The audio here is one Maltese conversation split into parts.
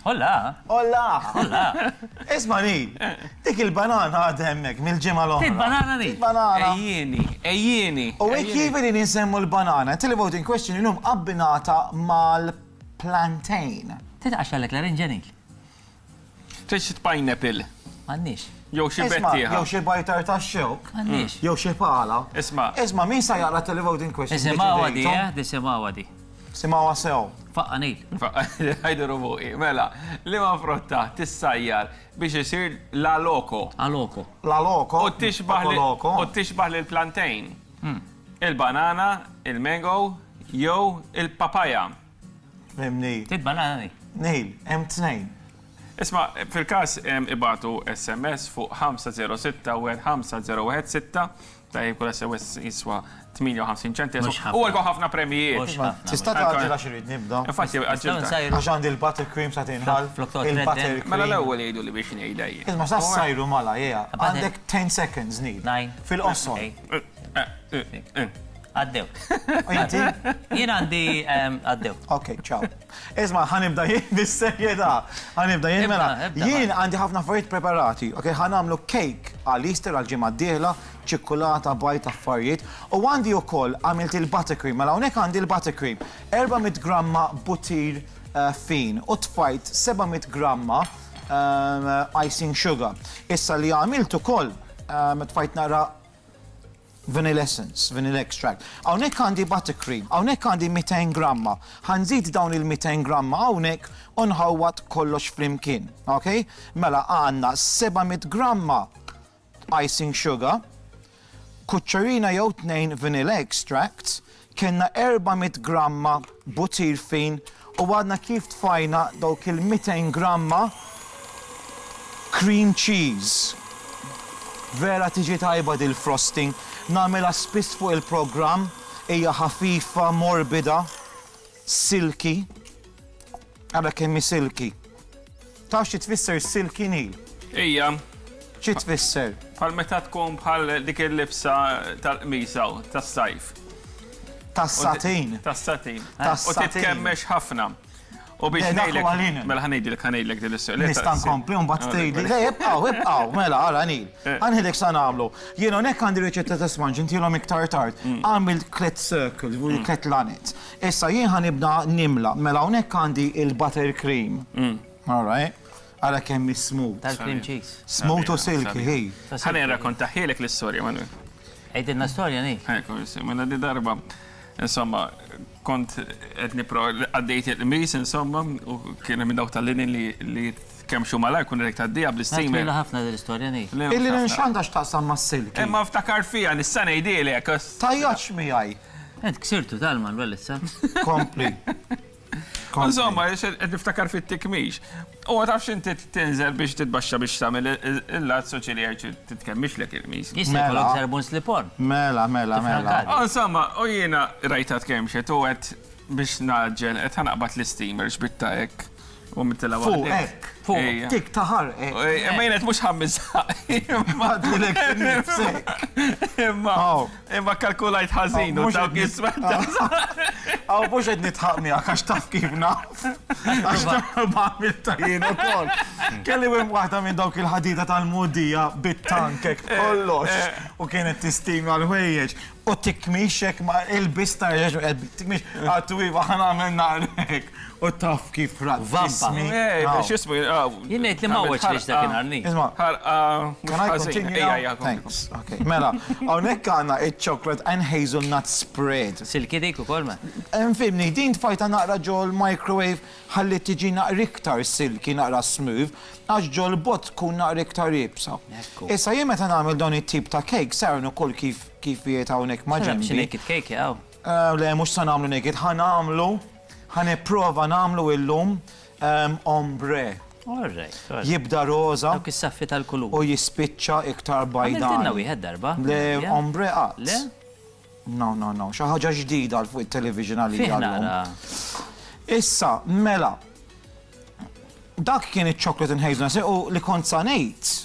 Hola! Hola! Hola! Isma' Neil, dik il-banana għadha hemmhekk mill-ġimgħa l-oħra. Trid banana Neil? Banana. Ejjieni, ejjieni. U hekk kif qegħdin insemmu l-banana, televoting question illum abbinata mal-plantain. Trid tqaxxarlek l-arinġa Neil? Trid xi pineapple? M'għandniex. Jew xi Isma', bettieħa. jew xi bajtar tax-xewk. M'għandniex. Jew xi pala. Isma'. Isma' min sa jaqra televoting question? Nisimgħuha di, eh? Nisimgħuha di. Simgħuha sew. Faqqa' Neil. Ħajdu fuqi. Mela, liema frotta tissajjar biex isir la loko? A loko. La loko. U tixbah Poco loko. u tixbah lil plantain. Il-banana, il-mango jew il-papaya. Fimni. Trid banana Neil? Neil, hemm tnejn. Isma', fil-każ ibagħtu SMS fuq 506 15016, tajjeb kull SMS jiswa 58 ċentesmu. Mhux ħafna. U għalkom ħafna premijiet. Mhux ħafna. Tista' tgħaġġel għax irrid nibda. Infatti, għaġġilta. nsajru. Għax għandi l-butter cream sa tinħall. Flok toqgħod Il-butter tredden. cream. Mela l-ewwel jgħidu li biex ngħidha jien. Isma' sa ssajru mala, jea. Butter- Għandek 10 seconds, Neil. Nine. Fil-qosor. Eight. Eh, eh, eh. Għaddew. U inti? Jien għandi għaddew. Ok, ciao. Isma' ħa nibda jien bis-serjetà. Ħa nibda jien mela. Jien għandi ħafna affarijiet preparati. Ok, ħa nagħmlu cake għal Easter għal ġimgħa d-dieħla, ċikkulata, bajd, affarijiet. U għandi wkoll għamilt il-buttercream. Mela hawnhekk għandi l-buttercream. 400 gramma butir fin u tfajt 700 gramma icing sugar. Issa li għamilt ukoll tfajt naqra Vanilla essence, vanilla extract. Hawnhekk għandi buttercream, hawnhekk għandi 200 gramma. Ħa nżid dawn il-200 gramma hawnhekk u nħawwad kollox flimkien. Ok? Mela għandna 700 gramma icing sugar, kuċċarina jew tnejn vanilla extract, kellna 400 gramma butir fin u għadna kif tfajna dawk il-200 gramma cream cheese. Vera tiġi tajba dil-frosting. Nagħmilha spiss fuq il-programm, hija ħafifa, morbida, silky. Ara kemm hi silky. Taf xi tfisser silky Neil? Hija. Xi tfisser? Bħal meta tkun bħal dik il-libsa tal-qmis hawn, tas-sajf. Tas-satin. Tas-satin. Tas-satin. U titkemmex ħafna. U biex Le, dak ngħidlek. huwa linen. Mela ħa ngħidlek, ħa ngħidlek din l-istorja. Nista' nkompli u mbagħad tgħidli. Le, ibqgħu, ibqgħu, mela, ara Neil. Eh. Ħa ngħidlek sa nagħmlu. Jien hawnhekk għandi riċetta ta' sponge, intilhom iktar tard. Għamilt tliet circles, tliet lanet. Issa jien ħa nibda nimla. Mela hawnhekk għandi il-buttercream. All right. Ara kemm hi smooth. Tal-cream cheese. Smooth u silky, hi. Ħa nirrakkontahielek l-istorja, Manuel. Għidilna storja, Neil. Ekku, mela di darba, insomma, kont qed nipro għaddejt il-qmis, insomma, u kien hemm dawk tal-linen li tkemmxu malajr kun irek tgħaddiha bl-isteamer. Twila ħafna din l-istorja, Neil. Il-linen x'għandha x'taqsam mas-silky? Imma ftakar fiha, nista' ngħidhielek. Tgħajjatx miegħi. Int ksirtu tal-Manuel issa. Kompli. Insomma, qed niftakar fit-tikmix. U ma tafx inti tinżel biex titbaxxa biex tagħmel il-lazz u ċili għajċ titkemmixlek il-qmis. Jista' jkollok żarbun slip-on. Mela, mela, mela. Insomma, u jiena rajtha tkemmxet u għedt biex ngħaġġel qed ħa naqbad l-isteamer xbitta hekk. U mittilha Fuq waħdek. hekk. Fuq. Ejja. Tik ta' ħarqek. Imma jien qed mhux ħammiżha. Għadilek innifsek. Imma Aw. imma kalkulajt ħażin u Mhux dawk qed nit- jisma' Aw, mhux qed nitħaq miegħek għax taf kif naf. Għax darba għamiltha jien ukoll. Kelli wim waħda minn dawk il-ħadida tal-mudija bit-tankek kollox u kienet tistima l-ħwejjeġ. U tikmix hekk ma il-biss ta' reġ u qed tikmix għattu iva ħa nagħmel naqrek. U taf kif rat. Vampa. Ej, biex jismu. Jien ngħid li ma għoġ dakinhar ni. Isma' Ħarqa. Can I continue now? Thanks. Okay. Mela, hawnhekk għandna iċ-chocolate and hazelnut spread. Silki dik ukoll ma. Infimni, din tfajta naqra ġol microwave ħalli tiġi naqra iktar silky, naqra smooth, għax ġol bot tkun naqra iktar iebsa. Ekku. Issa jien meta nagħmel dawn it-tip ta' cake, sar ukoll kif kif jiet hawnhekk ma' Xi ġenbi. naked cake jaw. Le, mhux sa nagħmlu naked, ħa nagħmlu, ħa nipprova nagħmlu illum ombre. All right. all right. Jibda roża Dawk is-saffi tal-kulur. u jispiċċa iktar bajdan. Għamiltilna wieħed darba. Le, Ja. ombre qatt. Le? No, no, no, xi ħaġa ġdida għal fuq it-television Fih għalija llum. naqra. Issa, mela, dak kien iċ-chocolate and hazelnut u li kont sa ngħid.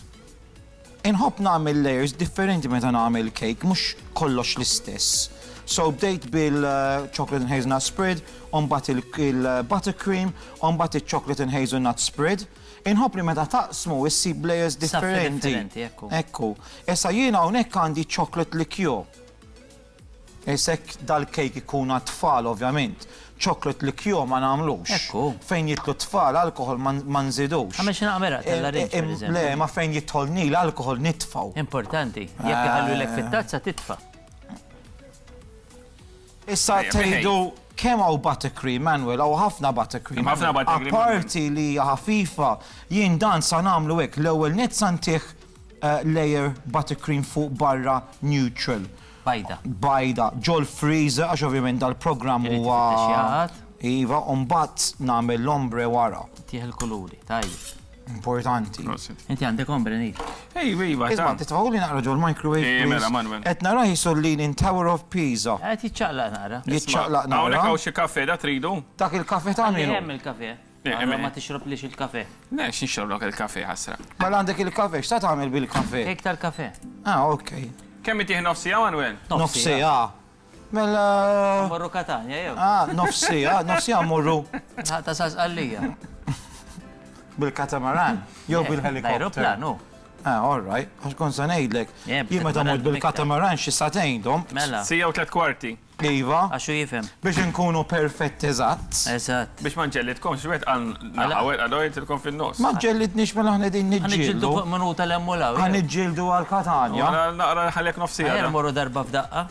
Inħobb nagħmel layers differenti meta nagħmel cake, mhux kollox l-istess. So bdejt bil-chocolate and hazelnut spread, u mbagħad il-buttercream, u mbagħad il-chocolate and hazelnut spread. Inħobb li meta taqsmu issib layers Saffi differenti. differenti, ekku. Ekku. Issa jiena hawnhekk għandi chocolate liqueur. Issa hekk dal-kejk ikun għat-tfal ovvjament. Chocolate liqueur ma nagħmlux. Ekku. Fejn jidħlu t-tfal alkohol ma nżidux. Għamel xi naqra meraq tal-larinġ, per eżempju. Le, ma fejn jidħol nil alkohol nitfgħu. Importanti. Jekk iħallulek fit-tazza titfa'. Issa Ejja, tgħidu kemm hawn buttercream, Manuel, hawn ħafna buttercream. Hemm ħafna buttercream. Apparti li hija ħafifa, jien dan sa nagħmlu hekk l-ewwel nett sa ntih layer buttercream fuq barra neutral. Bajda. Bajda, ġol freezer, għax ovvjament dal-programm Irid huwa ifittex jaqgħad. Iva, u mbagħad nagħmel l-ombre wara. Tih il-kuluri, tajjeb. Importanti. Prosit. Inti għandek ombre nil. Ej, iva, Isma' ta. titfgħuli naqra ġol microwave. Ej, please. mela, Manuel. Qed narah jisu Leaning Tower of Pisa. Qed jiċċaqlaq naqra. Jiċċaqlaq Hawnhekk naqra. hawn xi kafe da tridu? Dak il-kafe ta' Għalli min hu? hemm il-kafe. Eh, Allora eh, ma tixroblix il-kafe. Le, x'nixroblok il-kafe ħasra. Mela għandek il-kafe, x'ta tagħmel bil-kafe? Kejk tal-kafe. Ah, ok. Kemm itih nofsija, Manuel? Nofsija. Mela. Morru Katanja, jew. Ah, nofsija, nofsija morru Ta' sasqallija. bil-katamaran, jew bil-helikopter. L-aeroplan, hu. Ah, all right. Għax kont se ngħidlek. Yeah, Jien meta bil-katamaran mort bil-katamaran xi sagħtejn dom. Mela, Sija u tlet kwarti. Iva, għax hu jifhem. biex inkunu perfetti eżatt. Eżatt. Biex ma nġellidkomx, wieħed għal naħa, wieħed għal oħra fin-nofs. Ma ġellidniex mela aħna qegħdin Ħa niġġieldu niġġieldu. fuq minuta l-hemm u l-hawn. Ħa niġġieldu għal Katanja. Naqra naqra ħallek nofsija. Ejja da. morru darba f'daqqa.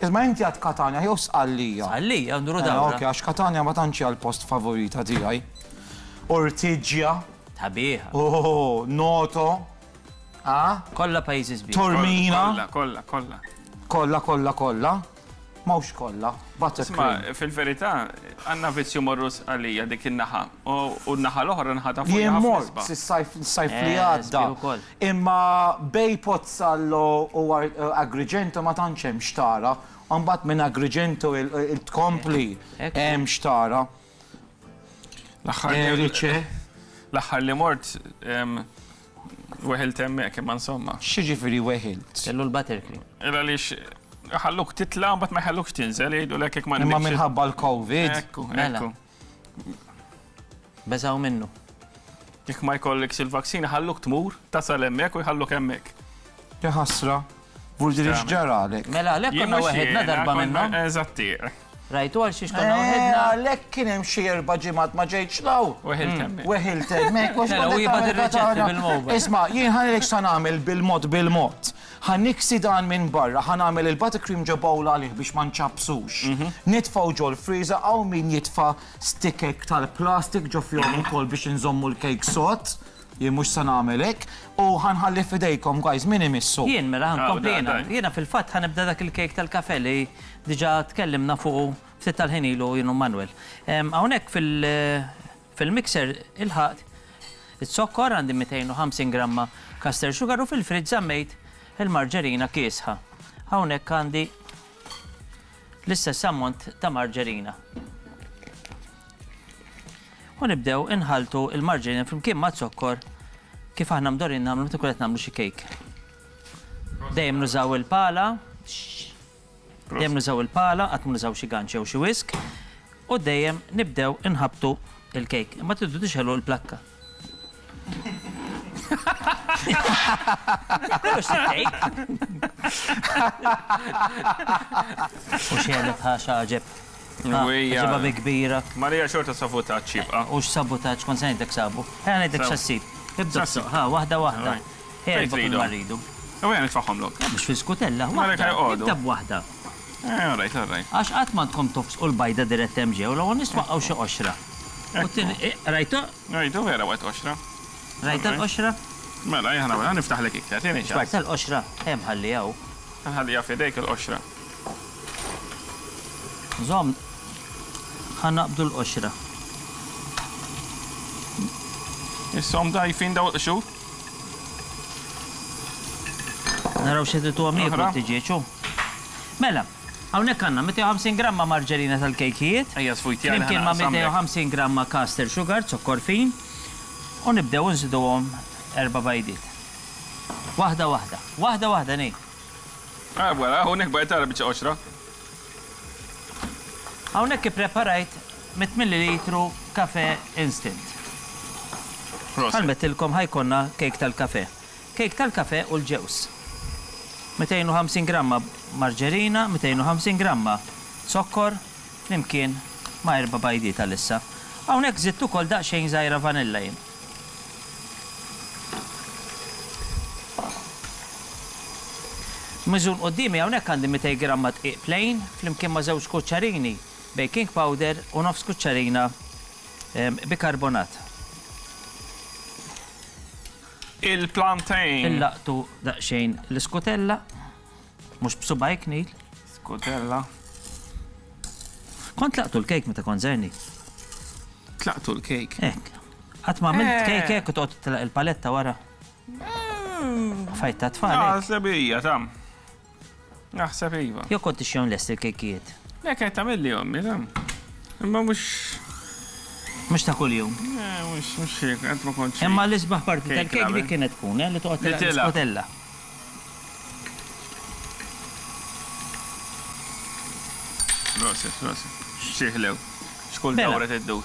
Isma' inti għad Katanja jew Sqallija. Sqallija, nduru Eh, dawra. Ok, għax Katanja ma tantx hija l-post favorita tiegħi. Ortigia, Tabiħa. oh, Noto, ah, Kollha pajjiżi sbieħ. Tormina, Kollha, kollha, kollha. kollha, kollha, kollha. Mawx kollha, buttercream. Isma' fil-verità, għandna vizzju morru Sqallija dik in-naħa. U n-naħa l-oħra naħa ta' fuq Jien ħafna mort isbaħ. is-sajf sajf li Eh, għadda. sbieħ ukoll. Imma bej Pozzallo u Agrigento ma tantx hemm xtara. U mbagħad minn Agrigento il-tkompli Ekku. hemm xtara. L-aħħar li- Erice. l-aħħar li mort weħilt hemmhekk imma insomma. X'jiġifieri weħilt? Kellu l-buttercream. Illa għaliex ħalluk titla' mbagħad ma jħallukx tinżel jgħidulek jekk ma Imma għandekx- minħabba l-Covid. Ekku, Mela. ekku. Beżaw minnu. Jekk ma jkollekx il-vaccina ħalluk tmur, tasal hemmhekk u jħalluk hemmhekk. Ja ħasra. Vuldiri x'ġaralek. Mela, għalhekk Jien konna mhux weħidna jiena, darba konna- minnhom. Eżatti. Rajtu għal xiex konna Eh, weħidna. għalhekk kien hemm xi erba' ġimgħat ma ġejtx law. Weħilt hemmhekk. Weħilt hemmhekk għax Mela, kont u qed jibgħat tagħmel ir-riċetti katana. bil-mobile. Isma' jien ħanilek sa nagħmel bil-mod bil-mod. Ħa niksi dan minn barra, ħa nagħmel il-buttercream ġo bowl għalih biex ma nċappsux. Nitfgħu ġol freezer hawn min jitfa' stickek tal-plastik ġo fihom ukoll biex inżommu l-cake sod. Jien mhux sa nagħmel hekk. U ħa nħalli f'idejkom guys min imissu. Jien mela ħankompli Ah, jiena. dai, dai. Jiena fil-fatt ħanibda dak il-kejk tal-kafe li diġà tkellimna fuqu ftit tal-ħin ilu jien u Manuel. Hawnhekk fil-mixer ilħaqt iz-zokkor għandi 250 gramma caster sugar u fil-friġġ żammejt il-marġerina kiesħa. Hawnhekk għandi l-istess ammont ta' marġerina. U nibdew inħaltu il-marġerina flimkien ma' zokkor kif aħna mdorin nagħmlu meta nkunu qed nagħmlu xi kejk. Dejjem nużaw il-pala, dejjem nużaw il-pala, qatt ma nużaw xi ganċ jew xi whisk, u dejjem nibdew inħabtu il-kejk. Imma tridu tixħelu l-plakka. Mhux il-kejk. U xelet ħaxa ġeb. Wejja. Ġebha bi kbira. Marija xorta sabotaġġ jibqa'. U x'sabotaġġ kont se ngħidlek sabu. Ħa ngħidlek Sabu. x'assib. Ibda X'assib. ha, waħda waħda. Alright. Ħa Fejn kull tridhom? ma rridu. U għen nitfaħħomlok. Mhux fil-skutella, Mela waħda. jqogħdu. Ibda b'waħda. Eh, all right, all right. Għax qatt ma tkom tofsqu l-bajda dirett hemm ġew, l-ewwel nistwaqqgħu xi qoxra. U tin- eh, Rajtu? Rajtu vera waqt qoxra. Rajta l-qoxra? Mela, jien ħana niftaħlek iktar, tieni ċans. Rajta l-qoxra? Hemm ħalli hawn. Nħallija f'idejk il-qoxra. Żomm, ħa naqbdu l-qoxra. Issom dajfin daw il-qxur. Naraw xi tridu għam jieklu Oħra. t-tiġieġ, hu. Mela, hawnhekk għandna 250 gramma marġerina tal-kejkijiet. Ejja sfujti għal Flimkien ma' 250 gramma caster sugar, zokkor fin, u nibdew nżiduhom erba' bajdiet. Waħda waħda, waħda waħda nej. Ah, wara, hawnhekk bajt tara biċċa qoxra. Hawnhekk ippreparajt 100 millilitru kafè instant. Bħalma għedtilkom ħa jkollna kejk tal-kafè. Kejk tal-kafè u l-ġewż. 250 gramma marġerina, 250 gramma zokkor flimkien ma' erba' bajdiet għalissa. Hawnhekk żidt ukoll daqsxejn żgħira vanilla jien. Miżun quddiemi hawnhekk għandi 200 gramma dqiq plain flimkien ma' żewġ kuċċarini baking powder u nofs kuċċarina bikarbonat. Il-plantain. Illaqtu daqsxejn l-iskutella, mhux b'subgħajk Neil. Skutella. Kont tlaqtu l-kejk meta kont żgħir Neil? Tlaqtu l-kejk? Hekk. Qatt ma għamilt kejk hekk u toqgħod titlaq il-paletta wara? Fajt ta' tfal. Naħseb hija ta'. Naħseb iva. Jew kont tixjihom lesti l-kejkijiet? Le kienet tagħmilli ommi ta'. Imma mhux. Mhux ta' kuljum. Le mhux mhux hekk, qatt ma kont xi. Imma l-isbaħ parti tal-kejk dik kienet tkun, eh, li toqgħod tilgħab l-iskotella. Proset, proset. Xi ħlew. X'kull dawra tiddur.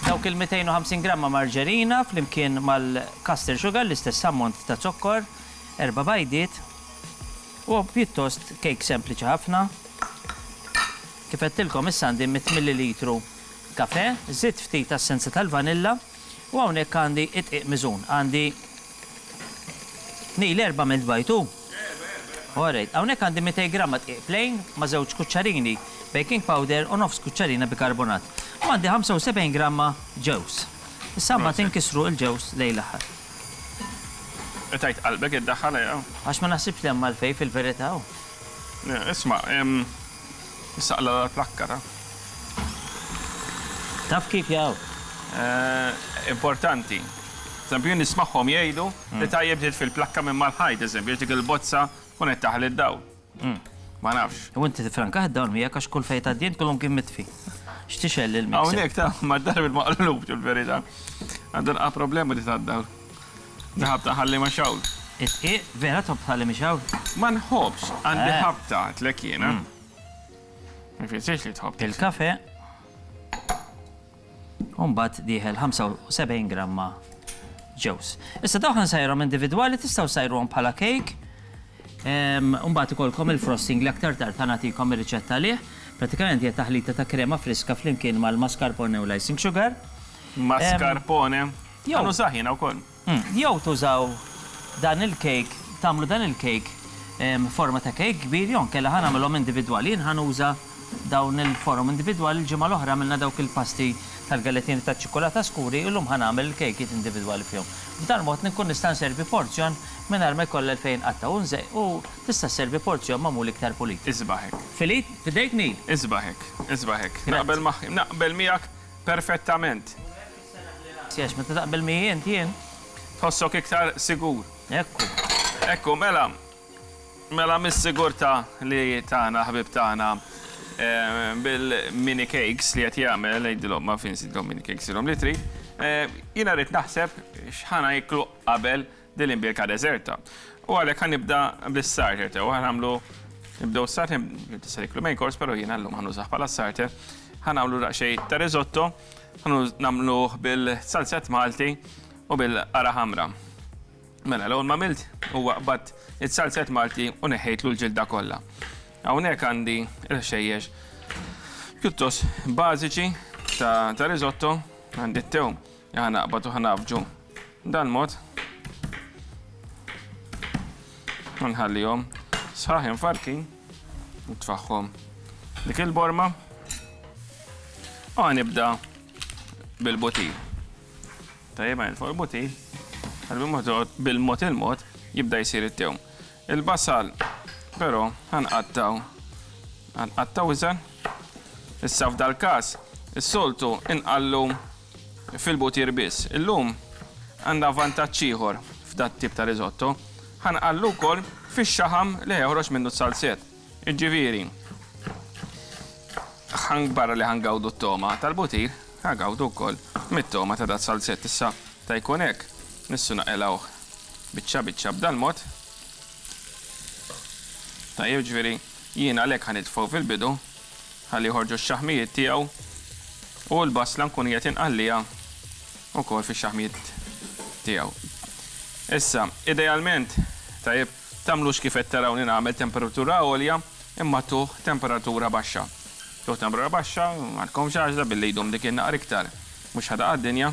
Dawk il-250 gramma marġerina flimkien mal-caster sugar, l-istess ammont ta' zokkor, erba' bajdiet u pjuttost kejk sempliċi ħafna. Kif għedtilkom issa għandi 100 millilitru kafè, żidt ftit essenza tal-vanilla u hawnhekk għandi d-dqiq miżun. Għandi Neil erba' għamilt bajd hu? All right. Hawnhekk għandi 200 gramma dqiq plain ma' żewġ kuċċarini baking powder u nofs kuċċarina bikarbonat. U għandi 75 gramma ġewż. Issa mbagħad inkissru l-ġewż lejn l-aħħar. Qtajt qalbek iddaħħal eh. Għax ma naħsibx li hemm għalfejn fil-verità hu. Isma', issa qla' l-plakka ta. Taf kif jaw? Importanti. Eżempju, jien nismagħhom jgħidu li tajjeb titfi l-plakka minn mal-ħajt, eżempju, dik il-bozza tkun qed taħli d-dawl. Ma nafx. U inti tifrankah id-dawl miegħek għax kull fejn tgħaddi int kullum kien mitfi. X'tixgħel il-mixer. Hawnhekk ta' mad-dar bil-maqlub fil-verità. Għandu nqa' problema di tad-dawl. Ħabta ħalli ma xawl. It-tqiq, vera tħobb tħalli ma xawl? Ma nħobbx, għandi ħabta għedtlek jiena. Ma jfissirx li tħobb. Il-kafe. U mbagħad dieħel 75 gramma ġewż. Issa dawn ħa nsajrhom individwali, tistgħu ssajruhom bħala cake. U mbagħad ikollkom il-frosting li aktar tard ħa nagħtikom ir-riċetta għalih. Pratikament hija taħlita ta' krema friska flimkien mal-mascarpone u l-icing sugar. Mascarpone? Ħa nużah jiena wkoll. Jew tużaw dan il-cake, tagħmlu dan il-cake forma ta' cake kbir jew inkella ħa nagħmilhom individwali. Jien ħa nuża dawn il-forom individwali, il-ġimgħa l-oħra għamilna dawk il-pasti tal-gallettini taċ-ċikkulata skuri, illum ħa nagħmel il-kejkiet individwali fihom. B'dan mod nkun nista' nservi porzjon mingħajr ma jkollha għalfejn inqatta' u nżej u tista' sservi porzjon magħmul iktar pulit. Isbaħ hekk. Filit? F'idejk Neil? Isbaħ hekk, isbaħ hekk. Naqbel magħ, naqbel miegħek perfettament. Għax meta taqbel miegħi int jien. Tħossok iktar sigur. Ekku. Ekku, mela, mela mis-sigurtà li tana ħbieb tagħna bil-mini cakes li qed jagħmel, ngħidilhom ma fin sidhom mini cakes ilhom li trid, jiena rrid naħseb x'ħa nieklu qabel din l-imbierka deżerta. U għalhekk ħa nibda bis-starter tew, ħa nagħmlu nibdew starter, tista' tiklu main course, però jiena llum ħa nużah bħala starter. Ħa nagħmlu daqsxejn ta' risotto, ħa nagħmluh bil-salzett Malti u bil-qara ħamra. Mela, l-ewwel ma għamilt huwa qbadt it-salzett Malti u neħħejtlu l-ġilda kollha. Hawnhekk għandi il-ħxejjex pjuttost bażiċi ta' risotto, għandi t-tewm li ħa naqbad u ħa nafġu dal-mod. U nħallihom sħaħ infarkin, nitfaħħom dik il-borma. U ħa nibda bil-butir. Tajjeb għajn fuq il-butir, bil-mod il-mod jibda jsir it-tewm. Il-basal però ħa nqattgħu ħa nqattgħu iżgħar. Issa f'dal-każ is-soltu inqallu fil-butir biss. Illum għandna vantaġġ ieħor f'dat-tip ta' risotto, ħa nqallu wkoll fix-xaħam li ħa joħroġ minnu s-salzett. Jiġifieri, barra li ħa ngawdu t-togħma tal-butir, ħa ngawdu wkoll mit-togħma ta' dat-salzett. Issa ta' jkun hekk, nistgħu naqilgħuh biċċa biċċa b'dal-mod. Tajjeb, ġifieri jien għalhekk ħa nitfgħu fil-bidu. Ħalli joħorġu x-xaħmijiet tiegħu u l-basla nkun qiegħed inqalliha wkoll fix-xaħmijiet tiegħu. Issa, idealment, tajjeb, tagħmlux kif qed tarawni nagħmel temperatura għolja imma tuh temperatura baxxa. Tuh temperatura baxxa, m'għandkomx għażla billi jdum dik in-naqra iktar. Mhux ħa taqa' d-dinja.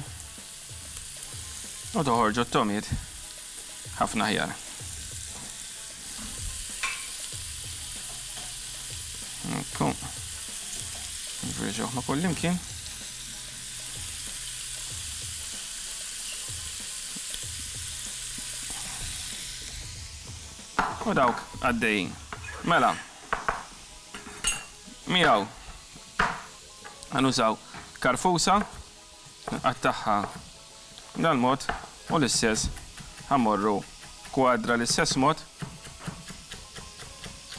U toħorġu t-togħmiet ħafna aħjar. Ekku. Nfirxuh ma' kullimkien. U dawk għaddejjin. Mela, miegħu ħanużaw karfusa Nqattagħha dal-mod u l-istess ħa mmorru kwadra l-istess mod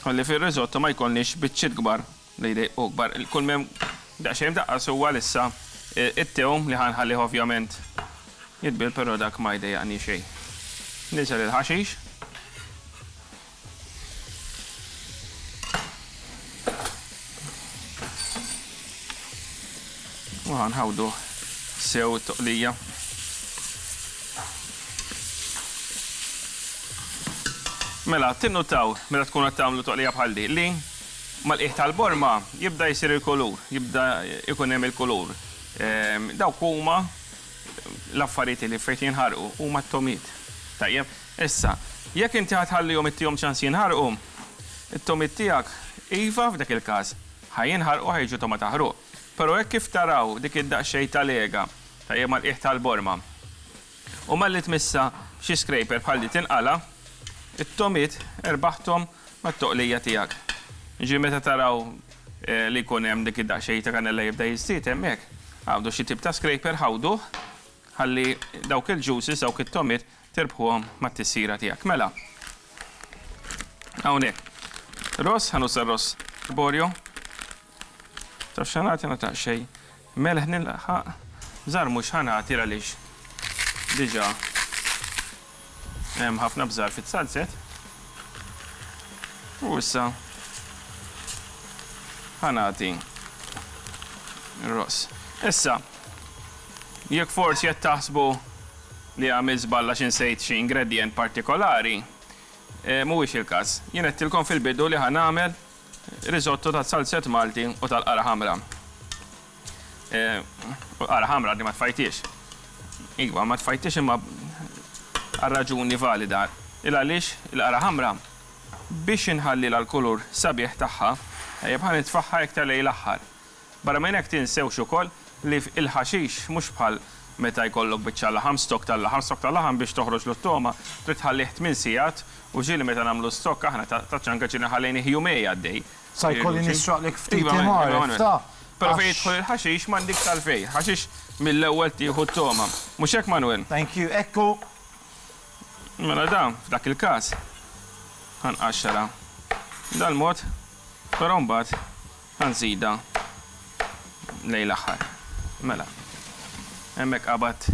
ħalli fir-risotto ma jkollniex biċċiet kbar li jdejqu kbar. Kull m'hemm daqsxejn mdaqqas huwa għalissa it-tewm li ħa nħallih ovvjament jitbiel però dak ma jdejjaqni xejn. Niżel il-ħaxix. U ħanħawdu sew it-toqlija. Mela, tinnutaw meta tkun qed tagħmlu toqlija bħal di li mal-qiegħ tal-borma jibda jsir il-kulur, jibda jkun hemm il-kulur. Ehm, dawk huma l-affarijiet li fejn jinħarqu huma t-tomiet. Tajjeb, Issa, jekk inti ħa tħallihom ittihom ċans jinħarqu, it-togħmiet tiegħek, iva, f'dak il-każ, ħa jinħarqu ħa jiġu togħma ta' ħruq. Però hekk kif taraw dik id-daqsxejn ta' lega, tajjeb mal-qiegħ tal-borma, u malli tmissha b'xi scraper bħal di tinqala', it-togħmiet erbaħthom mat-toqlija tiegħek. Jiġifieri meta taraw li jkun hemm dik id-daqsxejn ta' kanella jibda jiżdied hemmhekk, aqbdu xi tip ta' scraper ħawduh ħalli dawk il-juices, dawk it-togħmiet Tirbħuhom mat-tisjira tiegħek. Mela, hawnhekk. Ross, ħa nuża ross borjo. Taf x'ħa nagħti nagħti daqsxejn melħ nilħaq. Bżar mhux ħa nagħti għaliex diġà hemm ħafna bżar fit-salzet. U issa ħa nagħti ross. Issa, jekk forsi qed taħsbu li għamilt żball għax insejt xi ingredjent partikolari, mhuwiex il-każ. Jien għedtilkom fil-bidu li ħa nagħmel risotto taz-zalzett Malti u tal-qara ħamra. U l-qara ħamra għadni ma tfajthiex. Iva, ma tfajthiex imma għal raġuni valida. Il għaliex il-qara ħamra biex inħallilha l-kulur sabiħ tagħha, tajjeb ħa nitfagħha iktar lejn l-aħħar. Barra minn hekk tinsewx ukoll li il-ħaxix mhux bħal meta jkollok biċċa laħam, stock tal-laħam, stock tal-laħam biex toħroġlu t-togħma trid tħallih tminn sigħat u ġieli meta nagħmlu stock aħna ta' ċanka ġieli ħallejnih jumej għaddej. Sa jkolli nisraqlek ftit imgħaref ta'. Però fejn jidħol il-ħaxix m'għandikx għalfejn. Ħaxix mill-ewwel tieħu t-togħma. Mhux hekk Manuel? Thank you. Ekku. Mela dan f'dak il-każ ħa nqaxxarha dal-mod, però mbagħad Ħa nżidha lejn l-aħħar. Mela. Hemmhekk qabad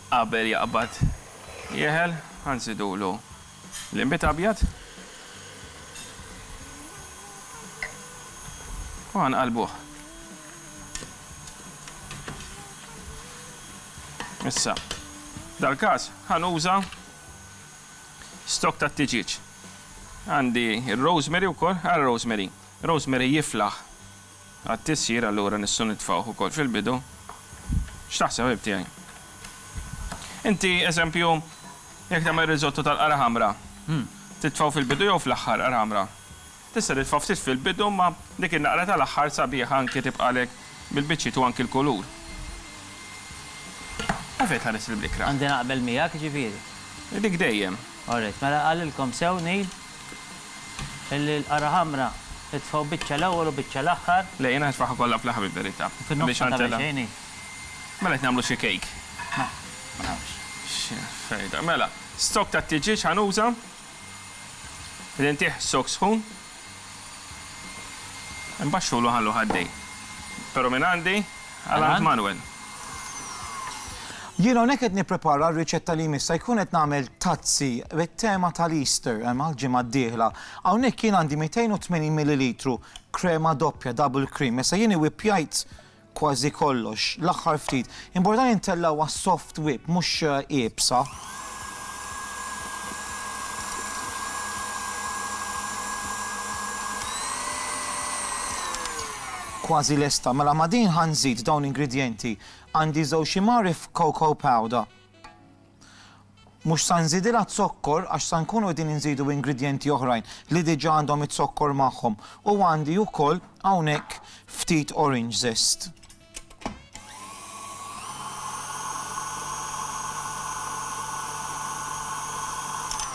qabel jaqbad jeħel, ħa nżidulu l-inbid abjad. U ħa nqallbuh. Issa, dal-każ ħa nuża stock tat-tiġieġ. Għandi r-rosemary wkoll, ara rosemary. Rosemary jiflaħ għat-tisjir allura nistgħu nitfgħuh ukoll fil-bidu. X'taħseb ħabib tiegħi? Inti eżempju jekk tagħmel risotto tal-qara ħamra, titfgħu fil-bidu jew fl-aħħar qara ħamra? Tista' titfgħu ftit fil-bidu imma dik in-naqra tal-aħħar sabiħa anki tibqalek bil-biċċiet u anki l-kulur. Għalfejn tħares il-blikra? Għandi naqbel miegħek jiġifieri. Dik dejjem. All right, mela qalilkom sew Neil illi l-qara ħamra itfgħu biċċa l-ewwel u biċċa l-aħħar. Le, jiena nitfagħha kollha fl-aħħar bil-verità. Fin-nofs ma tagħmel xejn hi. Mela qed nagħmlu xi cake. Ma, ma nafx. X'fejda. Mela, stock tat-tiġieġ ħa nuża. Qed intih stock sħun. Inbaxxulu ħalluh għaddej. Però minn għandi għal għand Manuel. Jien hawnhekk qed nipprepara r-riċetta li jmiss se jkun qed nagħmel tazzi bit-tema tal-Easter hemm għall-ġimgħa d-dieħla. Hawnhekk jien għandi 280 millilitru. krema doppja, double cream. Issa jien iwippjajt kważi kollox, l-aħħar ftit. Importanti ntellgħuha soft whip, mhux iebsa. Kważi lesta. Mela ma' din ħa nżid dawn l-ingredjenti. Għandi żewġ imgħarif cocoa powder. Mhux sa nżidilha zokkor għax sa nkunu qegħdin inżidu ingredjenti oħrajn li diġà għandhom iz-zokkor magħhom u għandi wkoll hawnhekk ftit orange zest.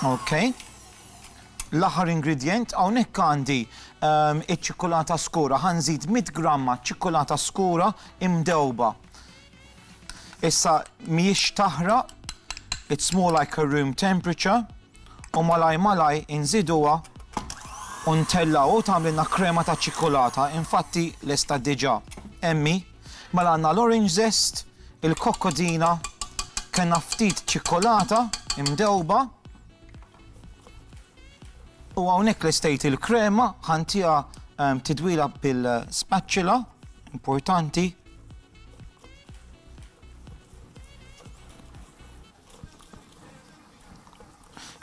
Ok. L-aħħar ingredjent hawnhekk għandi ehm, iċ-ċikkulata skura, ħa nżid 100 gramma ċikkulata skura imdewba. Issa mhijiex taħraq, it's more like a room temperature, u malaj malaj inżiduha u ntellgħu u tagħmlilna krema ta' ċikkulata, infatti lesta diġà. Hemm hi. Mela għandna l-orange zest, il-kokkodina, kellna ftit ċikkulata imdewba, u hawnhekk lestejt il-krema, ħa ntiha tidwila bil-spatula, importanti.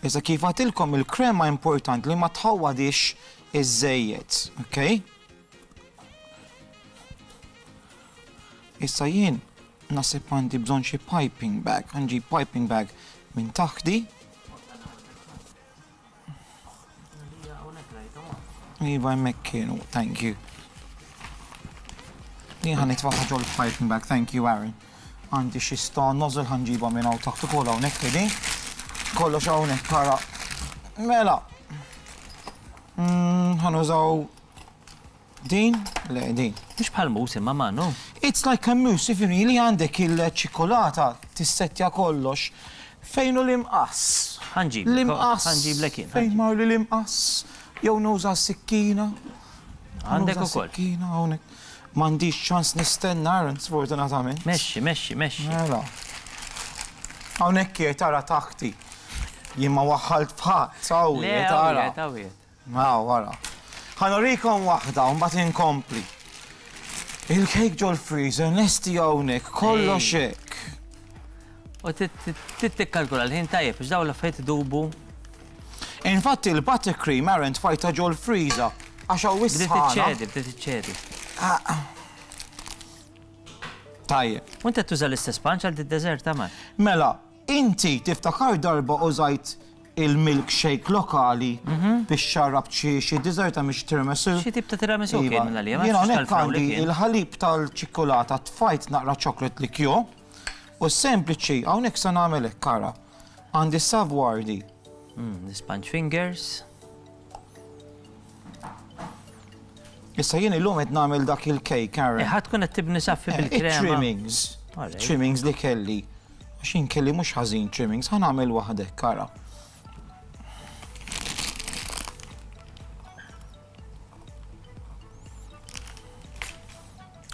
Issa kif għatilkom il-krema important li ma tħawwadix iż-żejjed, ok? Issa jien nasib għandi bżonn xi piping bag, għandi piping bag minn taħdi. Iva hemmhekk kienu, thank you. Jien ħa nitfaħħa ġol piping bag, thank you Aaron. Għandi xi sta nozzle ħa nġibha minn hawn taħt ukoll hawnhekk qegħdin. Kollox hawnhekk ara. Mela. Mm, ħa nużaw Din? Le, din. Mhux bħal mousse imma Manu. It's like a mousse, ifhimni, li għandek il-ċikkulata tissettja kollox. Fejn hu l-imqass? Ħa nġiblek, L-imqass. ħa nġiblek jien, ħa Fejn marli l-imqass? Jew nuża s-sikkina? Għandek Nuża ukoll. s-sikkina hawnhekk. M'għandix ċans nistenna, Aaron, sfortunatament. Mexxi, mexxi, mexxi. Mela. Hawnhekk qiegħed tara taħti. Jien ma waħħalt f'ħadd, hawn Le, qiegħed hawn tara. qiegħed, hawn qiegħed. Aw, ara. Ħa nurikom waħda u mbagħad inkompli. Il-kejk ġol-freezer lesti hawnhekk, kollox hekk. U trid tikkalkula l-ħin tajjeb biex dawn l-affarijiet idubu. Infatti il-buttercream Aaron tfajta ġol-freezer għax hawn Bdiet is-sħana. iċċedi, bdiet iċċedi. Tajjeb. U inti tuża l-istess sponge għal did-deżert Amar? Mela, Inti tiftakar darba użajt il-milkshake lokali biex xarrabt xi xi dessert mhix tiramisu? Xi tip ta' tiramisu kien Iva. minn għalija, ma Jien nafx hawnhekk tal-frawli għandi kien. il-ħalib tal-ċikkulata tfajt naqra chocolate liqueur u sempliċi hawnhekk se nagħmel hekk ara. Għandi savoirdi. Mm, the sponge fingers. Issa jien illum qed nagħmel dak il-cake, Aaron. Eh, ħa tkun qed tibni saffi bil-krema. It-trimmings. Trimmings li kelli. Għax jien kelli mhux ħażin trimmings, ħa nagħmel waħdek, ara.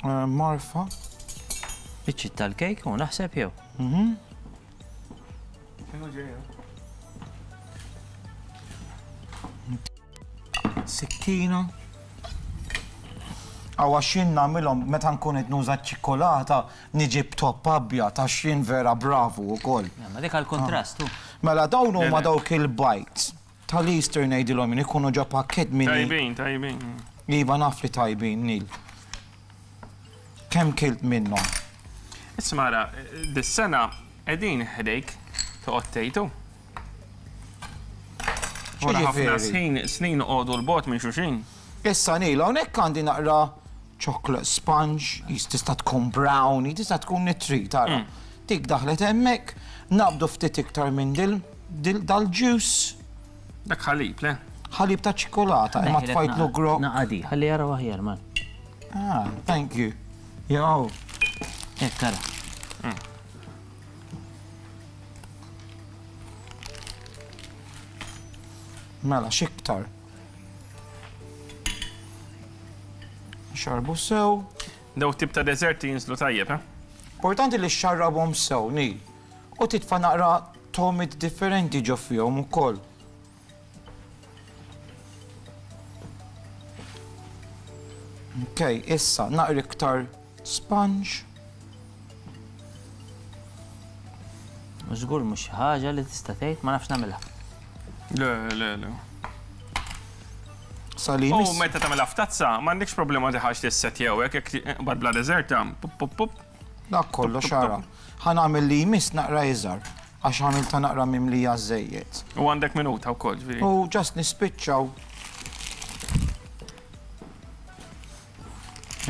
Eh, marfa. Biċċiet tal-kejk u naħseb jew. Mhm. Sikkina. Aw għax jien nagħmilhom meta nkun qed nuża ċ-ċikkulata niġi b'topp abjad għax jien vera bravu wkoll. Ma dik għall-kuntrast hu. Mela dawn huma dawk il-bites tal-Easter ngħidilhom jien ikunu ġo pakkett mini. Tajbin, tajbin. Iva naf li tajbin Neil. Kemm kilt minnhom? Isma' ara, dis-sena qegħdin ħdejk toqgħod tgħid hu. Wara ħafna snin, snin noqogħdu 'l bogħod minn xulxin. Issa Neil, hawnhekk għandi naqra chocolate sponge, tista' tkun brownie, tista' tkun li trid, ara. Dik daħlet hemmhekk, naqbdu ftit iktar minn dal-juice. Dak ħalib, le? Ħalib ta' ċikkulata, imma tfajtlu grokk. Naqadi, ħalli jaraw aħjar, man. Ah, thank you. Jew. Hekk ara. Mela, x'iktar? Xarbu sew. Daw tip ta' deżerti jinżlu tajjeb, eh? Importanti li xxarrabhom sew, Neil. U titfa' naqra togħmiet differenti ġo fihom ukoll. Ok, issa naqra iktar sponge. Żgur mhux xi ħaġa li tista' tgħid ma nafx nagħmilha. Le, le, le. Salim. U meta tagħmilha f'tazza, m'għandekx problema tiħax tissettjaw hekk jekk bad bla deżerta, pup pup pup. Dak kollox ara. Ħa nagħmel li jmiss naqra iżgħar għax għamiltha naqra mimlija żżejjed. U għandek minuta wkoll, ġifieri. U just nispiċċaw.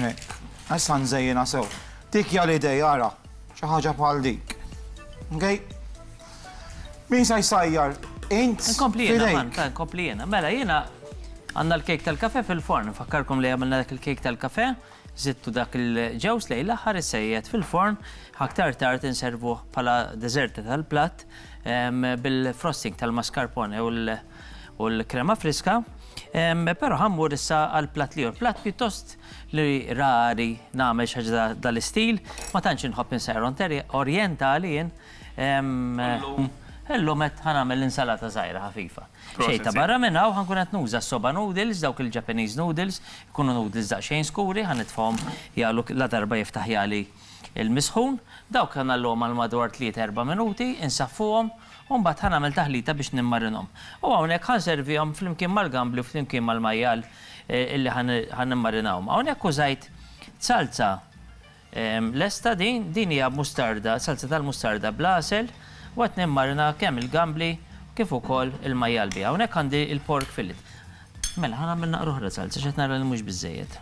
Hekk. Issa nżejjinha sew. Dik hija l-idea ara. Xi ħaġa bħal dik. Okay? Min sa jsajjar? Int? Nkompli jiena, nkompli jiena. Mela jiena għandna l-kejk tal-kafe fil-forn. Nfakkarkom li għamilna dak il-kejk tal-kafe. Żidtu dak il-ġewż lejn l-aħħar issejjed fil-forn, aktar tard inservuh bħala deżerta tal-platt bil-frosting tal-mascarpone u l-krema friska. Però ħa mmur issa għall-platt l-ieħor. Platt pjuttost li rari nagħmel xi ħaġa dal-istil, ma tantx inħobb insajjar orjentali jien. Illum qed ħa nagħmel insalata żgħira ħafifa. Xejn ta' barra minn hawn, ħa nkun qed nuża s-soba noodles, dawk il-Japanese noodles, ikunu noodles daqsxejn skuri, ħa nitfgħhom jagħlu ladarba jiftaħ jagħli l-misħun. Dawk ħa ngħalluhom għal madwar tlieta erba' minuti, insaffuhom u mbagħad ħa nagħmel taħlita biex nimmarinhom. U hawnhekk ħa nservihom flimkien mal-gambli u flimkien mal-majjal illi ħa nimmarinahom. Hawnhekk użajt salza Lesta din? Din hija mustarda, salza tal-mustarda bl-għasel u qed nimmarina kemm il-gambli kif ukoll il-majjal biha. Hawnhekk għandi l-pork fillet. Mela, ħa nagħmel naqra oħra salza x'qed nara li mhux biżżejjed.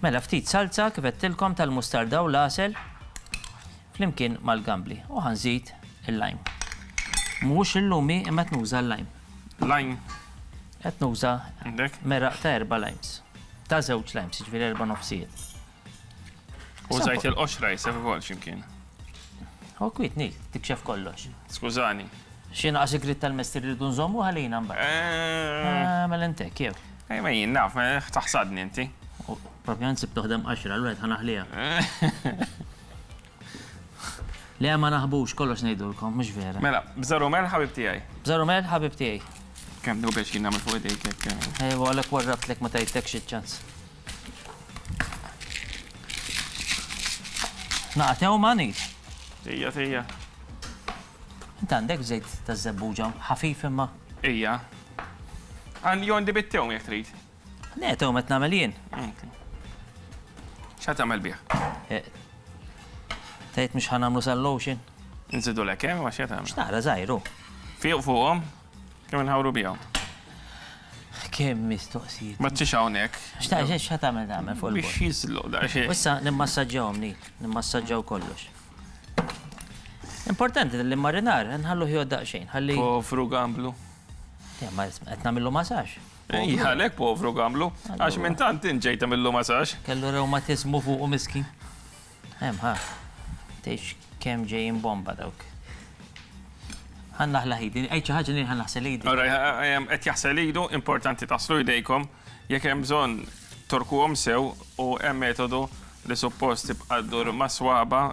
Mela ftit salza kif għedtilkom tal-mustarda u l-għasel flimkien mal-gambli u ħa nżid il-lime. Mhux il-lumi imma qed nuża l-lime. Lime. Qed nuża meraq ta' erba' limes. Ta' żewġ limes, jiġifieri erba' nofsijiet. Użajt il-qoxra jisek ukoll x'imkien. U kwiet nil, tikxef kollox. Skużani. Xi naqas igrit tal-mestier rridu nżommu ħalina mbagħad. Eh. Mela intek jew. Ej ma jien naf, taħsadni inti. Propjament sib toħdem qaxra, allura qed ħanaħliha. Le ma naħbux, kollox ngħidulkom, mhux vera. Mela, bżar u melħ ħabib tiegħi. Bżar u melħ ħabib tiegħi. Kemm nieħu pjaċir nagħmel fuq idejk hekk. Ejwa għalhekk warrabtlek ma tajtekx iċ-ċans. Naqa' tewma ngħid. Tija, tija. Int għandek żejt taż-żebbuġa ħafif imma. Ija. Għandi għandi bit-tewm jekk trid. Le, tewm qed nagħmel jien. X'għad tagħmel bih? Eh, tgħid mhux ħa nagħmlu sal-lotion? Nżidu lek hemm, ma x'qed tagħmel? X'naqra żgħiru. Fiq fuqhom, kemm inħawru bihom. Kemm mistoqsijiet. Ma tix hawnhekk. X'ta' x'ħa tagħmel tagħmel fuq il Biex jislu daqsxejn. Issa nimmassaġġawhom ni, nimmassaġġaw kollox. Importanti li marinar nħallu ħjod daqsxejn, ħalli. Povru gamblu. Ma qed nagħmillu masaġġ. Ija, għalhekk povru gamblu, għax minn tant int ġejt tagħmillu masaġġ. Kellu rewmatiżmu fuqu miskin. Hemm ħa. Tgħidx kemm ġejjin bomba dawk. Ħa naħlaħ idi, għid xi ħaġa li ħa naħsel idi. Qed jaħsel idu, importanti taħslu jdejkom, jekk hemm bżonn torkuhom sew u hemm metodu li suppost tibqa' ddur ma' swaba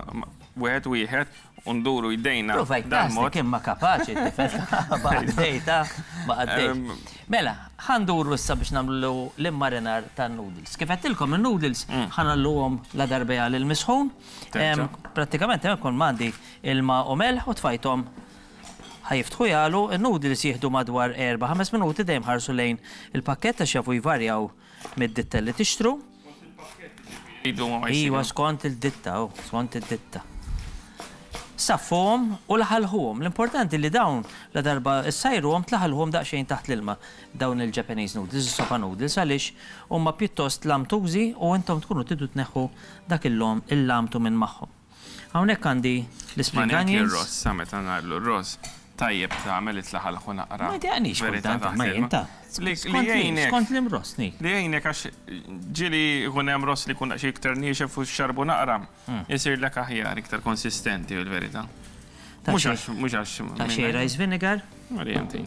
wieħed wieħed u nduru jdejna. Provajt dal-mod. Kemm ma kapaċi t-tifel. Ma għaddejta, ma għaddejt. Mela, ħa nduru issa biex nagħmlu l-immarinar tan-noodles. Kif għedtilkom in-noodles ħa nagħlluhom la darba jagħli l-misħun. Prattikament hemmhekk kont m'għandi ilma u melħ u tfajthom ħa jiftħu jagħlu. In-noodles jieħdu madwar erba' ħames minuti dejjem ħarsu lejn il-pakkett għax jafu jvarjaw mid-ditta li tixtru. Iva, skont il-ditta, oh, skont id-ditta. Saffuhom u laħalħuhom. L-importanti li dawn la darba ssajruhom tlaħalħuhom daqsxejn taħt l-ilma dawn il-Japanese noodles, is-sopa noodles, għaliex huma pjuttost lamtużi u intom tkunu tridu tneħħu dak il-lamtu minn magħhom. Hawnhekk għandi l-spring onions. Ma anki r-ross, sa meta ngħidlu r-ross, tajjeb tagħmel li tlaħalħu naqra. Ma jdejqnix kultant, imma jien ta. Li jgħinek. Skont l-imross, ni. Li jgħinek għax ġieli jkun hemm ross li jkun daqsxejn iktar niexef u xxarbu naqra, isirlek aħjar, iktar konsistenti fil-verità. Mhux għax, mhux għax. Daqsxejn rice vinegar. Marija inti.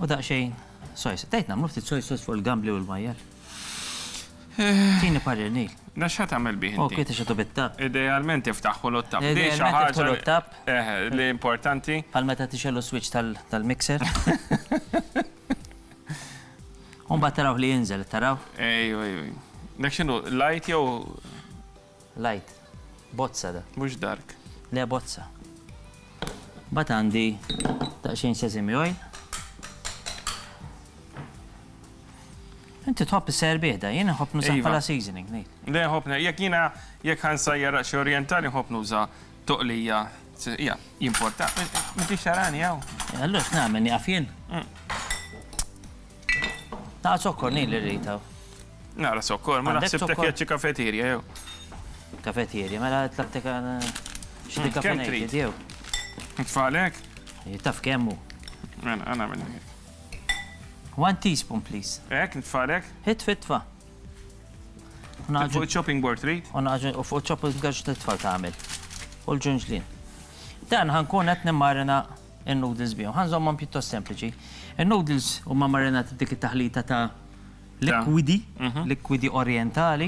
U daqsxejn soy sauce. Tgħid nagħmlu ftit soy sauce fuq il-gambli u l-majjal. Tini parir Neil. Da x'ħa tagħmel bih inti? Ok, tixgħetu bit-tapp. Idealment iftaħħulu t-tapp. Idealment iftaħħulu t-tapp. Eh, li importanti. Bħal meta tixgħelu switch tal-mixer. U mbagħad taraw li jinżel, taraw? Ejju, ejju. Dak x'inhu, light jew? Light. Bozza da. Mhux dark. Le bozza. Mbagħad għandi daqsxejn sesame oil. Inti tħobb is-ser da, jien nħobb nużah Iva. bħala seasoning, ngħid. Le nħobb, jekk jiena jekk ħa nsajjar xi orjentali nħobb nuża toqlija. Ja, jimporta. M'intix tarani hawn. Allura x'nagħmel nieqaf jien? Naqra zokkor nil li rrid hawn. Nara sokkor, ma Għandek naħsibtek zokkor? jgħid xi kafeterja jew. Kafetjerja, mela tlabtek xi Kemm kafeterja trid? jew. Tfalek? Taf kemm hu. Mela, għana għamil. One teaspoon, please. Ek, nitfalek? Hit fitfa. Fuq chopping board trid? U naġu u fuq chopping board titfal tagħmel. U l-ġunġlien. Dan ħa nkun qed nimmarina in-noodles bihom. Ħa nżommhom pjuttost sempliċi. In-noodles huma marinati b'dik it-taħlita ta' likwidi, likwidi orientali.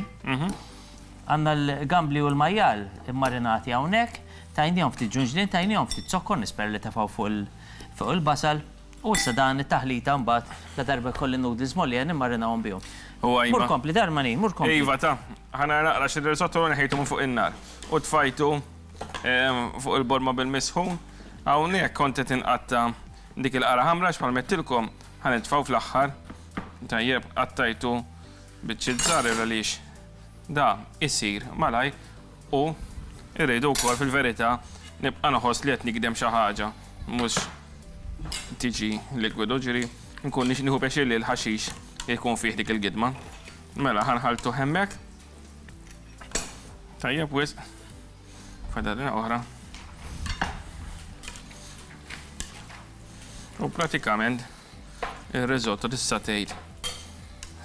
Għandna l-gambli u l-majjal immarinati hawnhekk, tajnihom ftit ġunġlien, tajnihom ftit zokkor, nispera li tefgħu fuq il-basal. U issa dan it-taħlita mbagħad la darba jkolli noodles mgħollija nimmarinahom bihom. U Mur iva. kompli, darmani, mur kompli. Iva ta' ħana naqra xi risotto neħejtu minn fuq in-nar. U tfajtu fuq il-borma bil-misħun. Hawnhekk kont qed inqatta dik il-qara ħamra x'bħal mettilkom ħa nitfgħu fl-aħħar. Tajjeb, qattajtu biċċiet żgħar għaliex da isir malaj u irridu wkoll fil-verità nibqa' nħoss li qed nikdem xi ħaġa mhux tiġi likwidu ġiri nkun nix nieħu pjaċir li l-ħaxix jkun fih dik il-gidma. Mela ħa nħalltu hemmhekk. Tajjeb wisq. Fadalina oħra. U pratikament ir-risotto tista' tgħid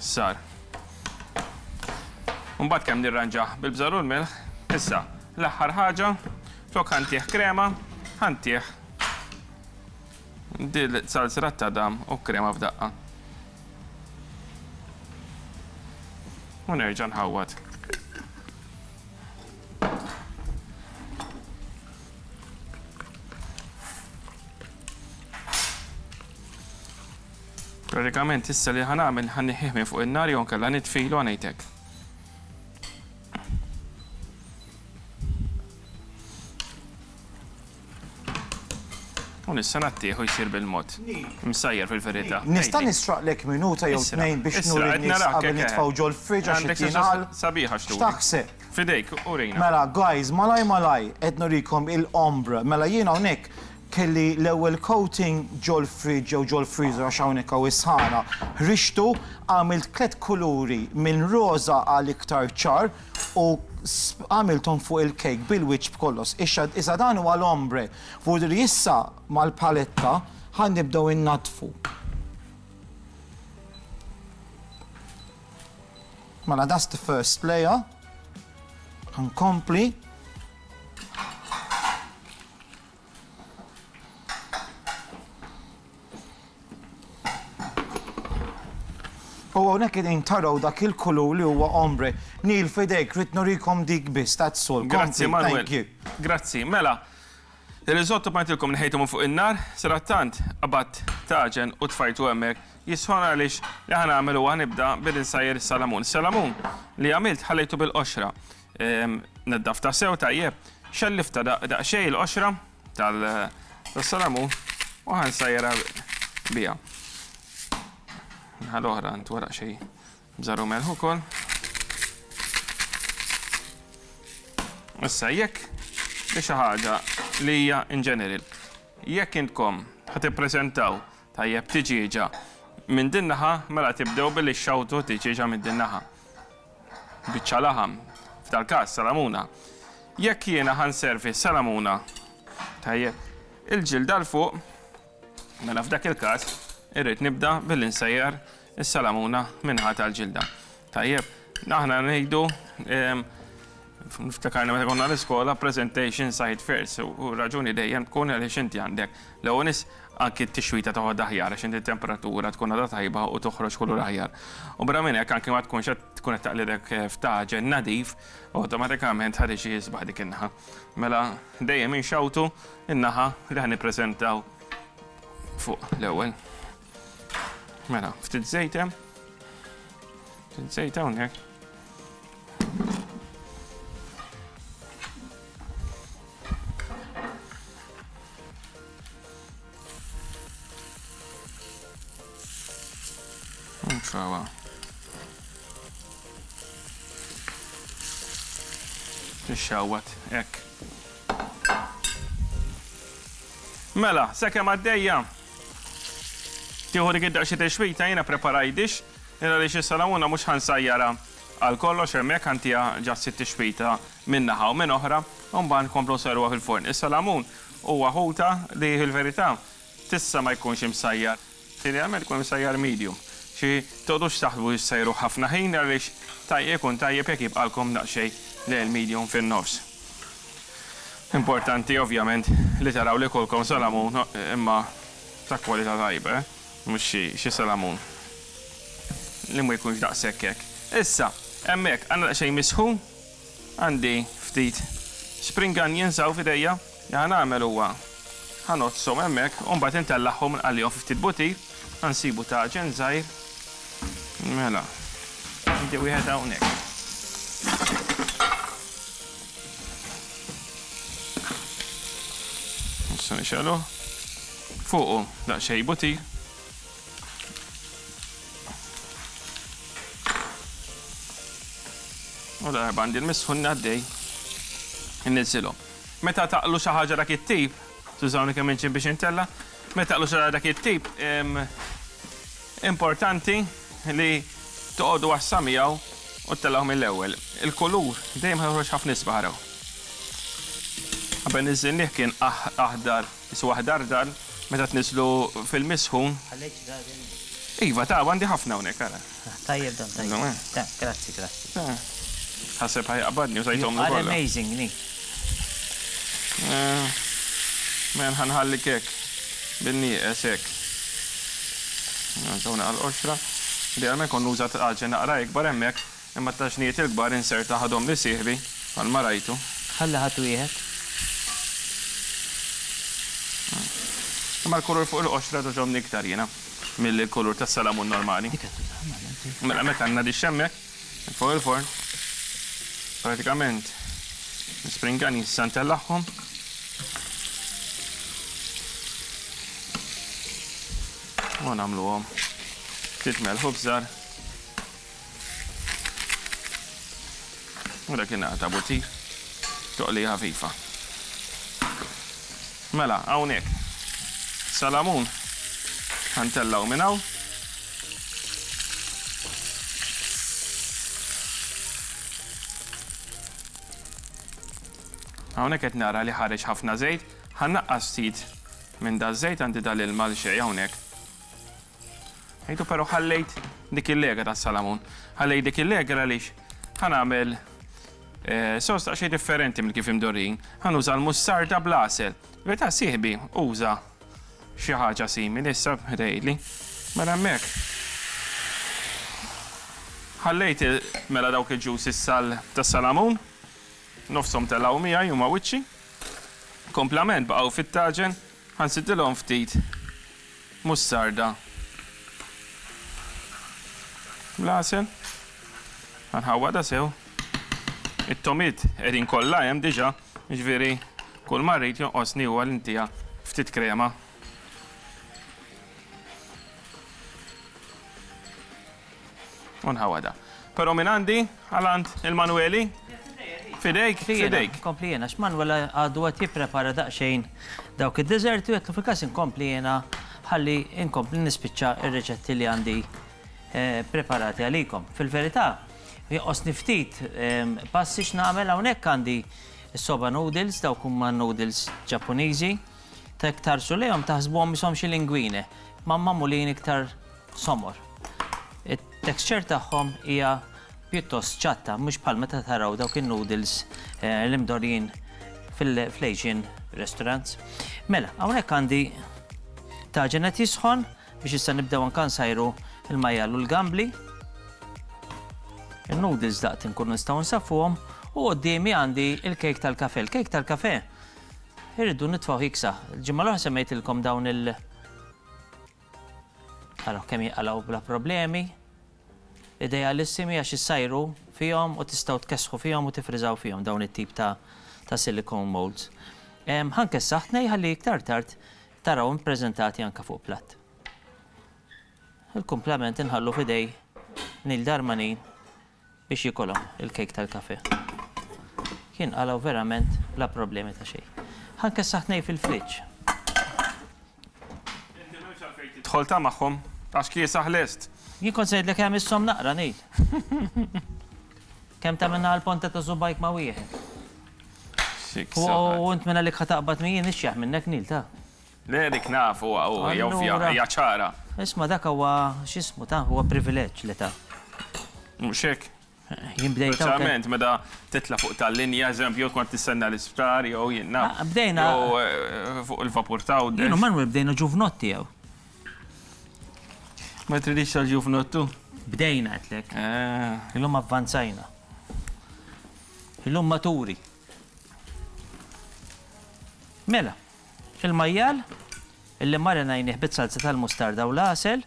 sar. Mbagħad kemm nirranġah bil-bżar u l-melħ, issa l-aħħar ħaġa flok ħa ntih krema, ħa ntih dil salsa ta' dam u krema f'daqqa. U nerġa' nħawwad. Pratikament issa li ħa nagħmel ħa nneħħih minn fuq in-nar jew nkella nitfilu ħa ngħidlek. U nissa nattieħu jsir bil-mod. Msajjar fil-verità. Nista' Ejdi. nisraqlek minuta jew Isra, tnejn biex isra, nuri qed n-nies narak, qabel hekk, nitfgħu hekk. ġol-fridge għax Għandek qed xi jingħal. sabiħa x'turi. X'taħseb? Fidejk, urina. Mela, guys, malaj malaj, qed nurikom il-ombre. Mela jien hawnhekk kelli l-ewwel coating ġol fridge jew ġol freezer għax hawnhekk hawn is-sħana. Ħriġtu, għamilt tliet kuluri minn roża għal iktar ċar u għamilthom fuq il-cake bil-wiċċ b'kollox. Issa issa dan huwa l-ombre. Vuol issa mal-paletta ħa nibdew innadfu. Mela that's the first layer. Ħa nkompli. U hawnhekk qegħdin taraw dak il-kulur li huwa ombre. Neil fidejk, rrid nurikom dik biss, that's all. Grazzi, Kompli, Manuel. Thank you. Grazzi. Mela, il-risotto għedtilkom neħejtu minn fuq in-nar, sadattant qabadt taġen u tfajtu hemmhekk jisħon għaliex li ħa nagħmel huwa nibda billi nsajjer is-salamun. Salamun li għamilt ħallejtu bil-qoxra. Naddaftha sew tajjeb, xelliftha daqsxejn il-qoxra tas-salamun u ħa nsajjarha biha. Ħal oħra ntwaraq xejn bżar u melħ ukoll. Issa jekk li xi ħaġa li hija in general. Jekk intkom ħa tippreżentaw tajjeb tiġieġa minn din naħa, mela tibdew billi xxawtu tiġieġa minn din naħa. Biċċa laħam, f'dal każ salamuna. Jekk jiena ħa nservi salamuna tajjeb il-ġilda 'l fuq, mela f'dak il-każ irrid nibda billi nsajjar is-salamuna min-naħa tal-ġilda. Tajjeb, aħna ngħidu niftakarna meta konna l-iskola presentation side first u raġuni dejjem tkun għaliex inti għandek l-ewwel nies anki t-tixwita toħod aħjar għax inti temperatura tkun għadha tajba u toħroġ kulur aħjar. U barra minn hekk anki ma tkunx qed tkun qed taqlidek f'taġen nadif, awtomatikament ħa tiġi isbaħ dik in-naħa. Mela dejjem inxawtu in-naħa li ħa nippreżentaw fuq l-ewwel. Mela, ftit żejt hemm. Nsejt hawnhekk. Nfawa. Tixxawat, hekk. Mela, sakemm għaddejja. Tieħu dik id-daqsxejn tixwita jiena preparajt dix, għaliex is-salamuna mhux ħa nsajjarha għal kollox hemmhekk ħa ntiha ġast it-tixwita minn naħa u minn oħra u mbagħad nkomplu nsajruha fil-forn. Is-salamun huwa ħuta li fil-verità tista' ma jkunx imsajjar, idealment ikun imsajjar medium. Xi toqgħodux taħsbu li ssajruh ħafna ħin għaliex ikun tajjeb jekk jibqalkom daqsxejn lejn il-medium fin-nofs. Importanti ovvjament li taraw li jkollkom salamun imma ta' kwalità tajba, eh? Mhux xi xi salamun li ma jkunx daqshekk hekk. Issa, hemmhekk għandna daqsxejn misħun, għandi ftit spring onions hawn f'idejja, li ħa nagħmel huwa ħa ngħoddshom hemmhekk u mbagħad intellagħhom nqallihom fi ftit butir, ħa nsibu taġen żgħir. Mela, għandi wieħed hawnhekk. Issa nixgħeluh. Fuqu daqsxejn butir. U darba għandi l-misħun għaddej inniżżilhom. Meta taqlu xi ħaġa dak it-tip, tużawni kemm inġib biex intella, meta taqlu xi ħaġa dak it-tip, importanti li toqogħdu għassa miegħu u ttellgħuh mill-ewwel. Il-kulur dejjem ħa joħroġ ħafna isbaħ araw. Qabel niżżilnih kien aħdar, qisu aħdar dal, meta tniżżlu fil-misħun. Ħallejt xi daqqa din? Iva, ta' għandi ħafna hawnhekk, ara. Tajjeb dan, tajjeb. Ta, grazzi, grazzi. Ħaseb ħa jaqbadni u tajthomlu kollha. You are amazing, Nick. Men ħa nħallik hekk, bin-nieqes hekk. Nżaw naqra l-qoxra. Idealment kont nuża taġen naqra ikbar hemmhekk, imma t-taġnijiet il-kbar inserta ħadhom li sieħbi bħalma rajtu. Ħalli ħadd wieħed. Imma l-kulur fuq il-qoxra togħġobni iktar jiena milli l-kulur tas-salamun normali. Dik qed tużaha mela inti. Mela hemmhekk għandna dixx hemmhekk fuq il-forn. Pratikament l-spring onions issa ntellagħhom. U nagħmluhom ftit melħ u bżar. U dak ingħata butir toqlija ħafifa. Mela, hawnhekk. Salamun ħa ntellgħu minn hawn. Hawnhekk qed nara li ħareġ ħafna żejt, ħa nnaqqas ftit minn daż-żejt għandi dal-ilma għal xejn hawnhekk. Għidu però ħallejt dik il-lega tas-salamun. Ħallejt dik il-lega għaliex ħa nagħmel eh, sos daqsxejn differenti minn kif imdorrin. Ħa nuża l-mustarda bl-għasel. Verità sieħbi uża xi ħaġa simili issa tgħidli. Mela hemmhekk. Ħallejt mela dawk il-juices tas-salamun. Nofshom telgħu miegħi huma wiċċi. Komplament baqgħu fit-taġen, ħa nsiddilhom ftit mustarda bl-għasel. Ħa nħawwadha sew. It-tomiet qegħdin kollha hemm diġà, jiġifieri kull ma rrid jonqosni huwa li ntiha ftit krema. U nħawwadha. Però minn għandi għal għand il-Manueli. Fidejk, fidejk. Kompli jiena, x'Manuel għadu qed jipprepara daqsxejn dawk id-deżerti u għedtlu fil-każ inkompli jiena ħalli inkompli nispiċċa r-riċetti li għandi eh, preparati għalikom. Fil-verità, jonqosni ftit eh, passi x'nagħmel hawnhekk għandi s-soba noodles, dawk huma noodles Ġappuniżi. Ta' iktar lejhom taħsbuhom ishom xi linguine, ma magħmulin iktar somor. It-texture tagħhom hija pjuttost ċatta, mhux bħal meta taraw dawk in-noodles eh, l-imdorjin fil-Asian restaurants. Mela, hawnhekk għandi taġen qed jisħon biex issa nibdew anka nsajru il-majjal u l-gambli. Il-noodles daqt inkunu nistgħu nsaffuhom u quddiemi għandi il-kejk tal-kafe. Il-kejk tal-kafe irridu nitfgħu jiksaħ. Il-ġimgħa l-oħra semmejtilkom dawn il- Araw kemm jinqalgħu bla problemi. Idealissimi għax issajru fihom u tistgħu tkessħu fihom u tiffriżaw fihom dawn it-tip ta' ta' silicone molds. Ħa nkessaħ tnej ħalli iktar tard tarawhom ippreżentati anke fuq platt. Il-kumplament inħallu f'idej Neil Darmanin biex jikolhom il-kejk tal-kafe. Jinqalgħu verament bla problemi ta' xejn. Ħa nkessaħ tnej fil-friġġ. Inti m'hemmx għalfejn tidħol ta' magħhom għax kiesaħ lest. Jien kont se ngħidlek hemm issom naqra Neil. Kemm tagħmilna għall-ponta ta' subgħajk ma' wieħed. U int minn għalik ħa taqbad min jien ixjaħ minnek Neil ta. Le dik naf huwa hija ovvja, hija ċara. Isma' dak huwa x'ismu ta' huwa privileġġ li ta. Mhux hekk? Jien bdejt. Speċjalment meta titla' fuq tal-linja, eżempju, tkun qed tistenna l-isptar jew jien naf. Ah, bdejna. Jew eh, fuq il-vapur ta' Jien u Manuel bdejna ġuvnotti jew. Ma tridix tal-ġuvnottu? Bdejna qedlek. Eh. Illum avvanzajna. Illum maturi. Mela, il-majjal illi marinajnih bit-salza tal-mustarda u l-għasel,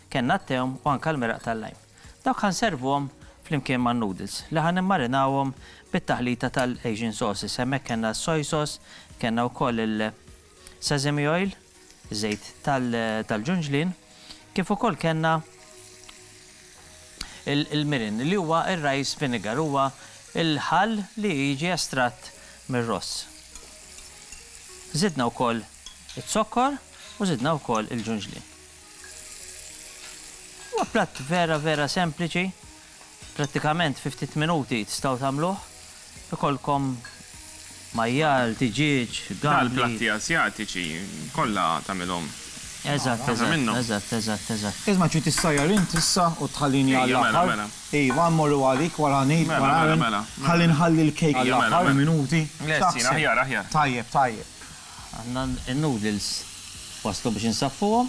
kellna t-tewm u anke l-meraq tal-lajm. Dawk ħa nservuhom flimkien man-noodles li ħa nimmarinawhom bit-taħlita tal-Asian sauces. Hemmhekk kellna s-soy sauce, kellna wkoll il-sesame oil, żejt tal-ġunġlien, kif ukoll kellna il-mirin li huwa r-rice vinegar, huwa l-ħall li jiġi estratt mir-ross. Żidna wkoll iz-zokkor u żidna wkoll il-ġunġlien. Huwa platt vera vera sempliċi, prattikament fi ftit minuti tistgħu tagħmluh. Ikollkom majjal, tiġieġ, gambli. Dal-platti Asjatiċi kollha tagħmilhom. Eżatt, eżatt, eżatt, eżatt, eżatt. Isma' trid issajjar int issa u tħallini għall-aħħar? Ejja, mela, mela. Iva, mmorru għalik wara ngħid, wara Mela, mela, mela. Ħalli nħalli l-kejk għall-aħħar minuti. Lesti, aħjar, aħjar. Tajjeb, tajjeb. Għandna n-noodles waslu biex insaffuhom.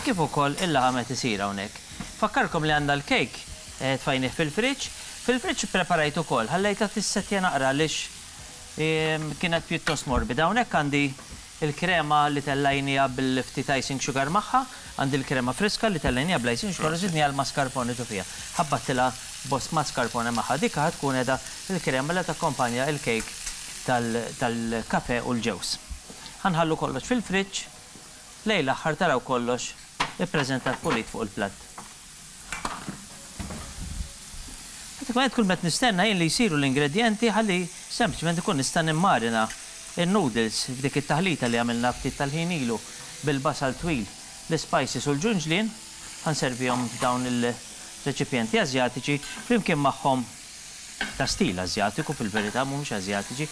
Kif ukoll il-laħam qed isir hawnhekk. Nfakkarkom li għandna l-kejk tfajnih fil-friġġ. Fil-friġġ ippreparajt ukoll, ħallejtha tissettja naqra għaliex kienet pjuttost morbida. Hawnhekk għandi l-krema li tellajniha bil-ftit icing sugar magħha, għandi l-krema friska li tellajniha bl-icing sugar u żidniha l-mascarpone ġo fiha. Ħabbattilha bost mascarpone magħha. Dik ħa tkun qiegħda l-krema li takkompanja l-kejk tal-kafè u l-ġewż. Ħa nħallu kollox fil-friġġ lejn l-aħħar taraw kollox ippreżentat pulit fuq il-platt. Prattikament kull ma qed nistenna jien li jsiru l-ingredjenti ħalli sempliċement inkun nista' nimmarina n-noodles f'dik it-taħlita li għamilna ftit tal-ħin ilu bil-basal twil, l-ispices u l-ġunġlien. Ħa nservihom f'dawn il-reċipjenti Asjatiċi flimkien magħhom ta' stil Asjatiku fil-verità mhumiex Asjatiċi,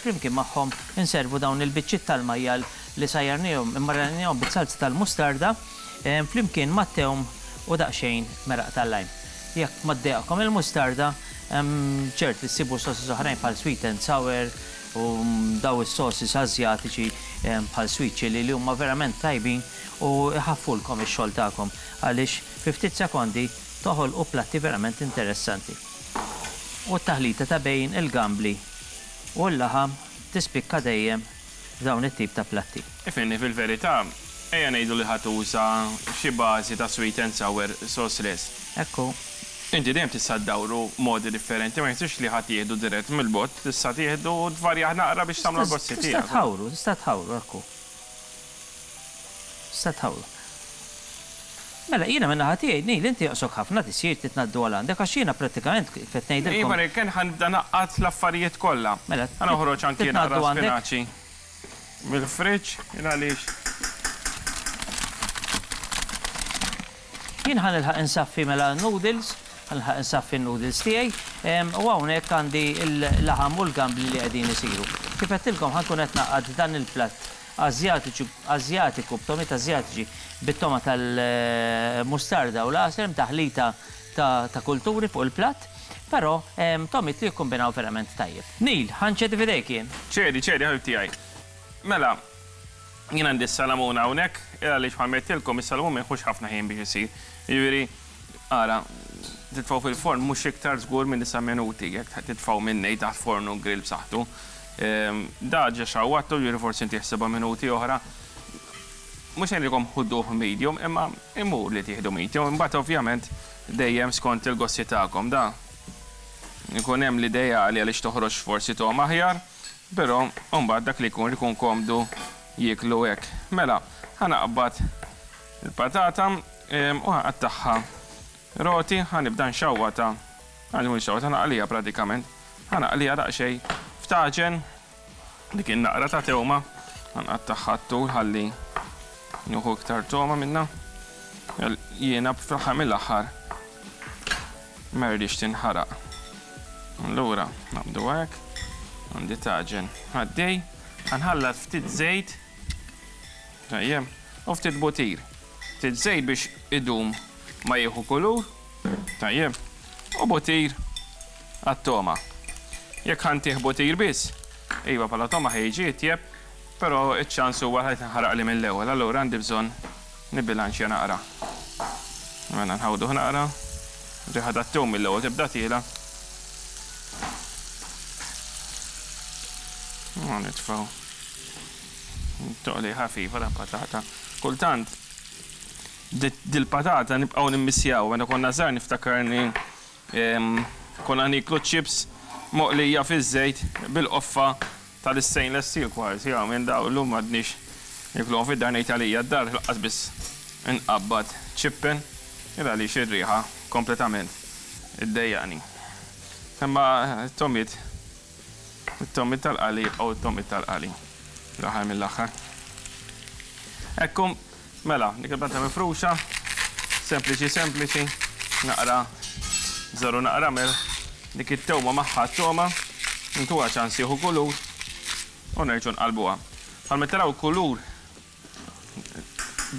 flimkien magħhom inservu dawn il-biċċiet tal-majjal li sajjarniehom, immarinajniehom bit-salza tal-mustarda flimkien mat-tewm u daqsxejn meraq tal-lime. Jekk ma ddejjaqkom il-mustarda, ċert li ssibu sauces oħrajn bħal sweet and sour u daw is-sauces Asjatiċi bħal sweet chilli li huma verament tajbin u jħaffulkom ix-xogħol tagħkom għaliex fi ftit sekondi Toħolqu platti verament interessanti. U t-taħlita ta' bejn il-gambli u l-laħam tispikka dejjem f'dawn it-tip ta' platti. Ifhimni, fil-verità, ejja ngħidu li ħa tuża xi bażi ta' sweet and sour sauce lest. Hekk hu. Inti dejjem tista' ddawru b'modi differenti, ma jfissirx li ħa tieħdu dirett mill-bott, tista' tieħdu u tvarjah naqra biex tagħmlu għall-gosti Tista' tiegħek. tħawru, tista' tħawru, hekk hu. Tista' tħawru. Mela, jiena min-naħa tiegħi, Neil, inti joqsok ħafna tisjir trid ngħaddu għal għandek għax jiena prattikament kif qed ngħidilkom. Iva, jekk ħa nibda ngħaqqad l-affarijiet kollha. Mela, Ħa noħroġ anki trid naqra ngħaddu għandek? spinaċi mill-fridge, il għaliex. Jien ħa nilħaq insaffi mela n-noodles, ħa nilħaq insaffi n-noodles tiegħi, u hawnhekk għandi l-laħam u l-gambli li qegħdin isiru. Kif għedtilkom ħa nkun qed ngħaqqad dan il-platt Asjatiċi, Asjatiku, b'tomiet Asjatiċi, bit-togħma tal-mustarda u l-għasel, hemm taħlita ta' ta' kulturi fuq il-platt, però togħmiet li jikkombinaw verament tajjeb. Neil, ħa nċedi f'idejk jien. Ċedi, ċedi ħabib tiegħi. Mela, jien għandi s-salamun hawnhekk, il għaliex bħalma għedtilkom is-salamun ma jieħux ħafna ħin biex isir. Jiġifieri, ara, titfgħu fil-forn mhux iktar żgur minn disa' minuti jekk titfgħu minn nej taħt forn u grill b'saħħtu. Da ġa xawwattu, jiġifieri forsi ntih seba' minuti oħra. Mhux ngħidilkom ħuduh medium, imma imur li tieħdu medium, imbagħad ovvjament dejjem skont il-gosti tagħkom. Da ikun hemm l-ideali għaliex toħroġ forsi togħma aħjar, però mbagħad dak li jkun ikun komdu jieklu hekk. Mela, ħa naqbad il-patata u ħa nqattagħha roti, ħa nibda nxawwatha, ħa nxawwatha, ħa naqliha pratikament, ħa naqliha daqsxejn f'taġen. Dik in-naqra ta' tewma nqattagħha t-tul ħalli nieħu iktar togħma minnha. Jiena fl-aħħar mill-aħħar ma rridx tinħaraq. Allura naqbdu hekk, għandi taġen għaddej, nħallat ftit żejt, tajjeb, u ftit butir. Ftit żejt biex idum ma jieħu kulur, tajjeb, u butir għat-togħma. Jekk ħa ntih butir biss, iva bħala togħma ħa jiġi itjeb, però ċ-ċans huwa li tinħaraqli mill-ewwel, allura għandi bżonn nibbilanċja naqra. Mela nħawduh naqra, riħa tat-tewm mill-ewwel tibda tiela'. U nitfgħu toqli ħafifa ta' patata. Kultant dil-patata nibqgħu nimmissjaw, meta konna żgħar niftakarni Konna nieklu ċ-chips moqlija fiż-żejt bil-qoffa tal-istainless steel kważi, hawn minn dawn illum m'għadniex niekluhom fid-dar ngħid għalija d-dar lanqas biss inqabbad chippen il għaliex ir-riħa kompletament iddejjaqni. Imma t-togħmiet it-togħmiet tal-qali jibqgħu t-togħmiet tal-qali fl-aħħar mill-aħħar. Ekku Mela, dik il-patata mifruxa, sempliċi sempliċi, naqra żaru naqra melħ, dik it-tewma magħha t-togħma, ntuha ċans jieħu kulur u nerġgħu nqallbuha. Bħalma taraw kulur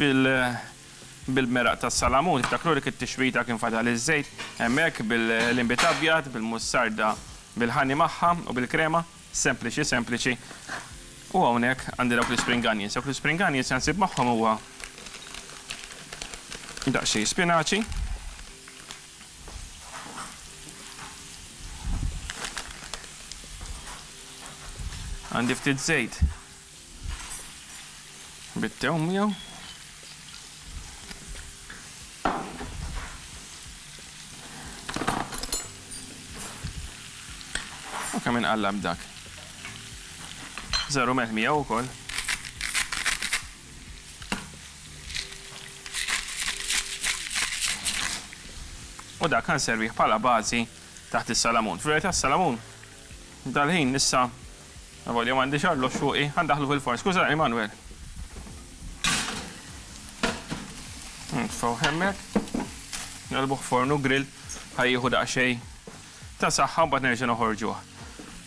bil bil-meraq tas-salamun, tiftakru dik it-tixwita kien fadal iż-żejt hemmhekk bil-inbid abjad, bil-mussarda bil-ħani magħha u bil-krema. Sempliċi, sempliċi. U hawnhekk għandi dawk l-ispring onions. Dawk l-ispring onions li nsib magħhom huwa daqsxejn spinaċi. Għandi ftit żejt bit-tewm miegħu. U kemm inqallab dak. Żaru melħ miegħu wkoll. U dak ħanservih bħala bażi taħt is-salamun. Fil-verità s-salamun dal-ħin issa Avolja m'għandix arloġġ fuqi, ħa ndaħħlu fil-forn. Skużani, Manuel. Nitfgħu hemmhekk. Nqelbuh forn u grill ħa jieħu daqsxejn ta' saħħa mbagħad nerġa' noħorġuh.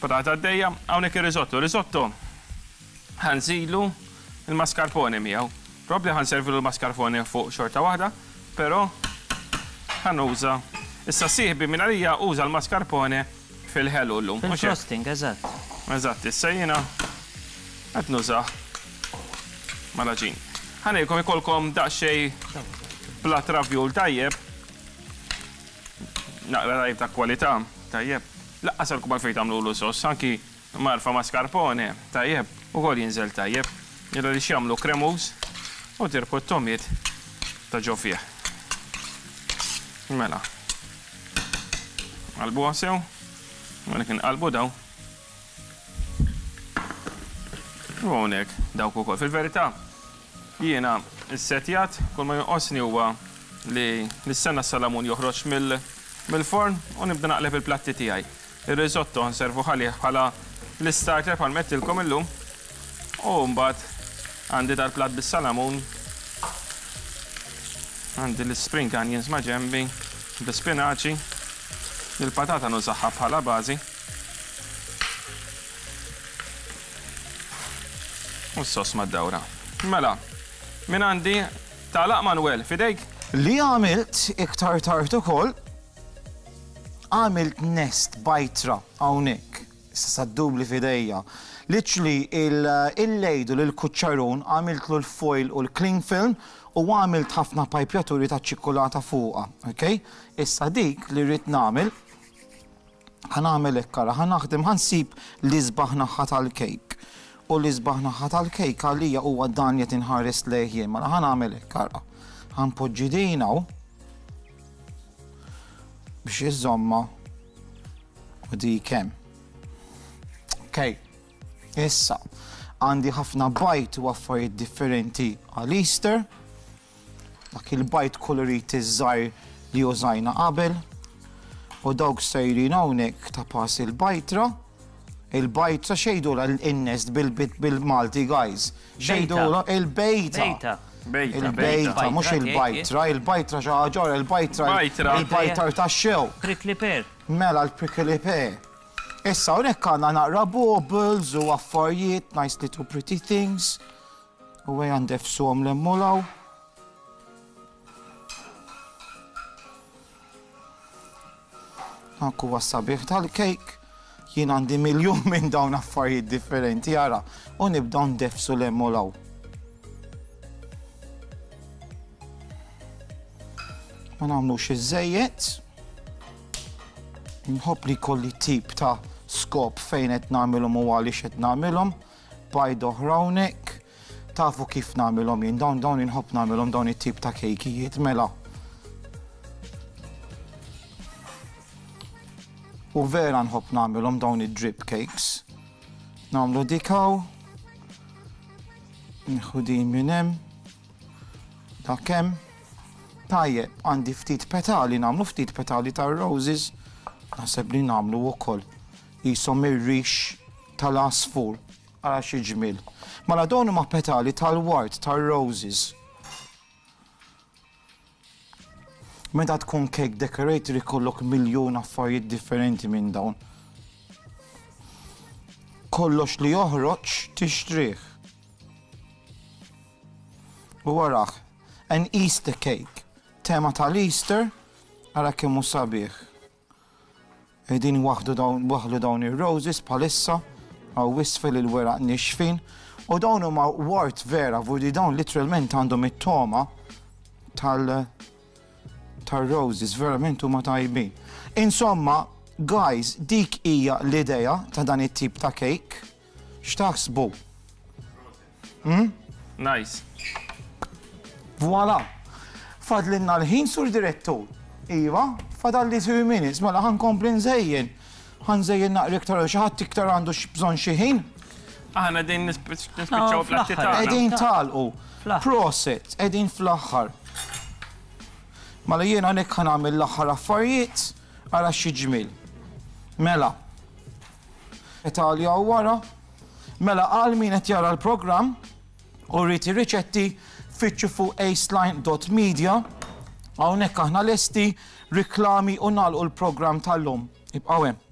Patata għaddejja, hawnhekk ir-risotto. Risotto ħa nżidu l-mascarpone miegħu. Probabbli ħa nservilu l-mascarpone fuq xorta waħda, però ħa nuża. Issa sieħbi minn għalija uża l-mascarpone fil-ħelu llum. Fil-frosting, eżatt. Eżatt, issa jiena qed nużah mal-għaġin. Ħa ngħidilkom ikollkom daqsxejn platt ravjul tajjeb, naqra tajjeb ta' kwalità, tajjeb. Laqqas għalkom għalfejn tagħmlulu sos, anki marfa mascarpone, tajjeb, ukoll jinżel tajjeb. Jalla li jagħmlu kremuż u tirbħu t-tomiet ta' ġo fih. Mela. Qalbuha sew. Hawnhekk inqalbu daw. U hawnhekk dawk ukoll. Fil-verità, jiena ssetjat, kull ma jonqosni huwa li nistenna s-salamun joħroġ mill-forn u nibda naqleb il-platti tiegħi. Ir-risotto nservuh għalih bħala l-istarter bħal m'għedtilkom illum. U mbagħad għandi dal-platt bis-salamun. Għandi l-spring onions ma' ġenbi, bl-ispinaċi. Il-patata nużaha bħala bażi. U s-sos mad-dawra. Mela, minn għandi tagħlaq Manuel, f'idejk. Li għamilt iktar tard ukoll Għamilt nest bajtra hawnhekk, issa sa ddubli f'idejja. Literally il-lejdu lill-kuċċarun għamiltlu l-foil u l-cling film u għamilt ħafna pajpjaturi taċ-ċikkulata fuqha, ok? Issa dik li rrid nagħmel, ħa nagħmel hekk ara, ħa naħdem, ħa nsib l-isbaħ naħa tal-kejk. U l-isbaħ naħa tal-kejk għalija huwa dan li qed inħares lejh jien. Mela ħa nagħmel hekk, ara. Ħa npoġġi din hawn biex iżomma u dik hemm. Okej. Issa, għandi ħafna bajd u affarijiet differenti għal Easter. Dak il-bajd kolorit iż-żgħir li użajna qabel. U dawk sejrin hawnhekk ta' pass il-bajtra. Il-bajtra xejdula l-innest bil-Malti, guys. Xejdula il-bejta. Il-bejta, mhux il-bajtra, il-bajtra xi ħaġa oħra, il-bajtra. Il-bajtar tax-xew. Prickly pear. Mela l-prickly pear. Issa hawnhekk għandna naqra baubles u affarijiet, nice little pretty things. U ejja ndefsuhom 'l hemm u 'l hawn. Dak huwa s-sabiħ tal-kejk. Jien għandi miljun minn dawn affarijiet differenti, ara, u nibdew ndefsu 'l hemm u 'l hawn. Ma nagħmlux iż-żejjed. Nħobb li jkolli tip ta' skop fejn qed nagħmilhom u għaliex qed nagħmilhom. Bajd oħra hawnhekk. Tafu kif nagħmilhom jien, dawn dawn inħobb nagħmilhom dawn it-tip ta' kejkijiet mela. U vera nħobb nagħmilhom dawn id-drip cakes. Nagħmlu dik hawn. Nieħu din minn hemm. Dak hemm. Tajjeb, għandi ftit petali, nagħmlu ftit petali tar-roses. Naħseb li nagħmlu wkoll. Qishom ir-rix tal-għasfur. Ara xi ġmiel. Mela dawn huma petali tal-ward, tar-roses. Meta tkun cake decorator ikollok miljun affarijiet differenti minn dawn. Kollox li joħroġ tixtrih. U warah, an Easter cake. Tema tal-Easter, ara kemm hu sabiħ. Qegħdin waħdu dawn waħlu dawn ir-roses bħalissa hawn isfel il-weraq nixfin u dawn huma ward vera vudi dawn literalment għandhom it-togħma tal tar-roses verament huma tajbin. Insomma, guys, dik hija l-idea ta' dan it-tip ta' cake. X'taħsbu? Hmm? Nice. Voila. Fadlinna l-ħin sur direttur. Iva, fadalli 2 minutes, mela ħa nkompli nżejjen. Ħa nżejjen naqra iktar xi ħadd iktar għandu bżonn xi ħin. Aħna qegħdin nispiċċaw platti tagħna. Qegħdin tagħlqu. Proset, qegħdin fl-aħħar. Mela jiena hawnhekk ħa nagħmel l-aħħar affarijiet ara xi ġmiel. Mela. Italja u wara. Mela għal min qed jara l-programm u rrid ir-riċetti fittxu fuq aceline.media. Hawnhekk aħna lesti, riklami u nagħlqu l-programm tal-lum. Ibqgħu hemm.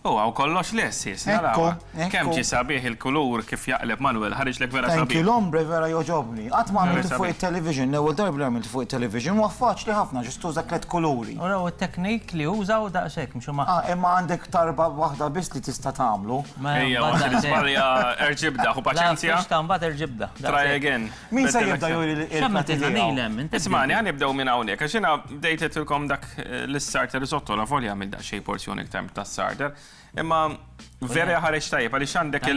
U hawn kollox lest, sis, naraw. Kemm ġie sabiħ il-kulur kif jaqleb Manuel, ħariġlek vera sabiħ. Thank you, l-ombre vera jogħġobni. Qatt ma għamiltu fuq it-television, l-ewwel darba li għamiltu fuq it-television, huwa faċli ħafna, ġust tuża tlett kuluri. U raw it-teknik li uża u daqshekk, mhux huma. Ah, imma għandek tarba waħda biss li tista' tagħmlu. Ejja, waqt li żbalja erġibda, ħu paċenzja. La, mbagħad erġibda. Try again. Min se jibda juri l-platti tiegħu? Ismani, ħa nibdew minn hawnhekk, għax jiena bdejt għedtilkom dak l-starter risotto la volja għamilt daqsxejn porzjon iktar tas-starter. Imma vera ħareġ tajjeb għaliex għandek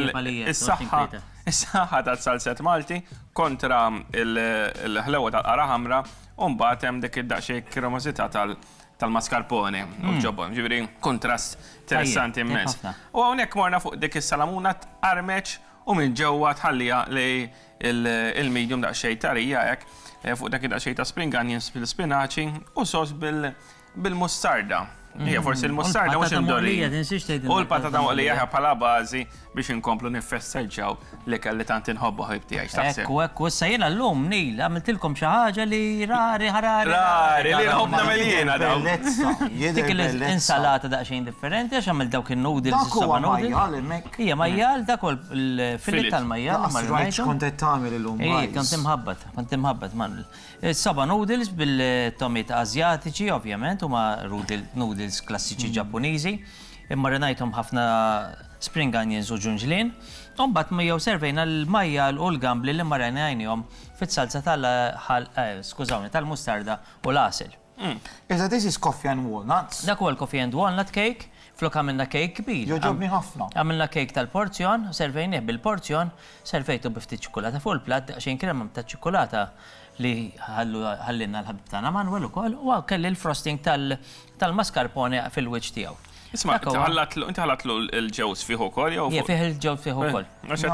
is-saħħa is-saħħa tas-salset Malti kontra l-ħlewa tal-qara ħamra u mbagħad hemm dik id-daqsxejn kremosità tal-mascarpone u l-ġobon. Ġifieri kuntrast interessanti immens. U hawnhekk morna fuq dik is-salamuna tqarmeċ u minn ġewwa tħalliha li il-medium daqsxejn tarija hekk eh, fuq dak daqsxejn ta' spring onions bil-spinaċi u sos bil-mustarda. Hija mm. forsi l-mustarda mhux imdorri. U l-patata moqlija bħala bażi biex inkomplu niffesteġġaw l-ikel li tant inħobbu ħabib tiegħi. X'taħseb? Ekku, ekku, issa jiena llum Nil għamiltilkom xi ħaġa li rari ħarari. Rari li nħobb nagħmel jiena dawn. Dik l-insalata daqsxejn differenti għax għamilt dawk in-noodles. Dak huwa majjal hemmhekk. Hija majjal, dak huwa l-fillet tal-majjal. Lanqas rajt x'kont qed tagħmel illum. Ej, kont imħabbat, kont imħabbat Manuel. Saba noodles bil-tomiet Asjatiċi, ovvjament, huma noodles klassiċi Ġappuniżi. Immarinajthom ħafna spring onions u ġunġlien. U mbagħad miegħu servejna l-majjal u l-gambli li marinajnihom fit-salza tal-ħal, skużawni, tal-mustarda u l-għasel. Iżda this is coffee and walnuts. Dak huwa l-coffee and walnut cake, flok għamilna cake kbir. Jogħġobni ħafna. Għamilna cake tal-porzjon, servejnieh bil-porzjon, servejtu bi ftit ċikkulata fuq il-platt, daqsxejn krema ta' ċikkulata li ħallielna l-ħabib tagħna Manuel ukoll, u kelli l-frosting tal-mascarpone fil-wiċċ tiegħu. Isma', inti ħallatlu l-ġewż fih ukoll jew? Ija, fih il-ġewż fih ukoll. Nice,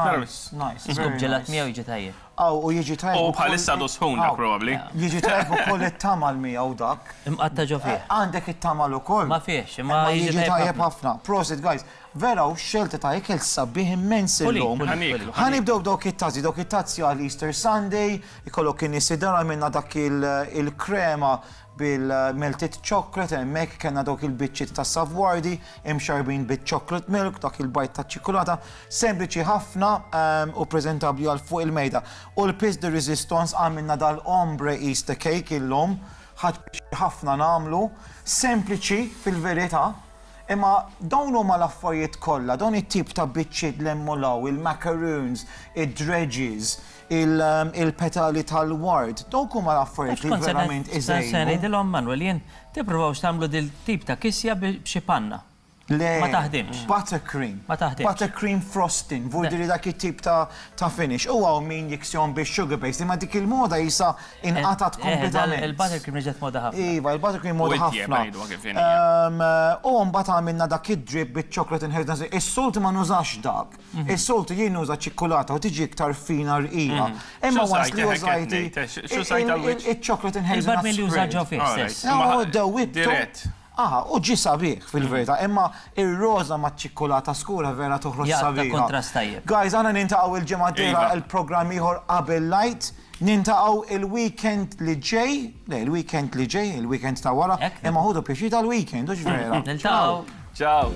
nice. Scoop ġelat miegħu jiġi tajjeb. Aw, u jiġi tajjeb. U bħalissa għadu sħun dak probabbli. Jiġi tajjeb ukoll it-tamal miegħu dak. Imqatta' ġo fih. Għandek it-tamal ukoll. Ma fihx, imma jiġi tajjeb ħafna. Prosit guys. Vera u xelta ta' ikel sabiħ immens illum. Ħa nibdew b'dawk it-tazzi, dawk it-tazzi għal Easter Sunday, ikollok in-nies id-dar għamilna dak il-krema bil-melted chocolate hemmhekk kellna dawk il-biċċiet ta' savoiardi imxarrbin biċ-chocolate milk, dak il-bajd taċ-ċikkulata, sempliċi ħafna u preżentabbli għal fuq il-mejda. U l-pièce de résistance għamilna dal-ombre Easter cake illum, ħadt pjaċir ħafna nagħmlu, sempliċi fil-verità, imma dawn huma l-affarijiet kollha, dawn it-tip ta' biċċiet l-hemm u l-hawn, il-macaroons, id-dredges, il-petali tal-ward, dawk huma l-affarijiet li verament iżejnu. Se ngħidilhom Manuel jien tippruvawx tagħmlu dil tip ta' kisja b'xi panna. Le. Ma taħdimx. Buttercream. Ma taħdimx. Buttercream frosting, vuol dire dak it-tip ta' ta' finish. U hawn min jiksihom bix-sugar paste, imma dik il-moda jisa inqatgħet kompletament. Il-buttercream reġgħet moda ħafna. Iva, il-buttercream moda ħafna. U mbagħad għamilna dak id-drip biċ-chocolate inheritance. Is-soltu ma nużax dak. Is-soltu jien nuża ċikkulata u tiġi iktar fina rqiqa. Imma once li użajt iċ-chocolate and hazelnut. Il-barmil li uża ġo fih stess. Dewwibtu. Aha, u ġie sabiħ fil-verità, imma ir-roża maċ-ċikkulata skura vera toħroġ sabiħa. Kontrast tajjeb. Guys, aħna nintaqgħu il-ġimgħa d-dieħla il-programm ieħor qabel l-Għid. Nintaqgħu il-weekend li ġej, le, il-weekend li ġej, il-weekend ta' wara, imma ħudu pjaċir tal-weekend, hux vera? Niltaqgħu. Ciao.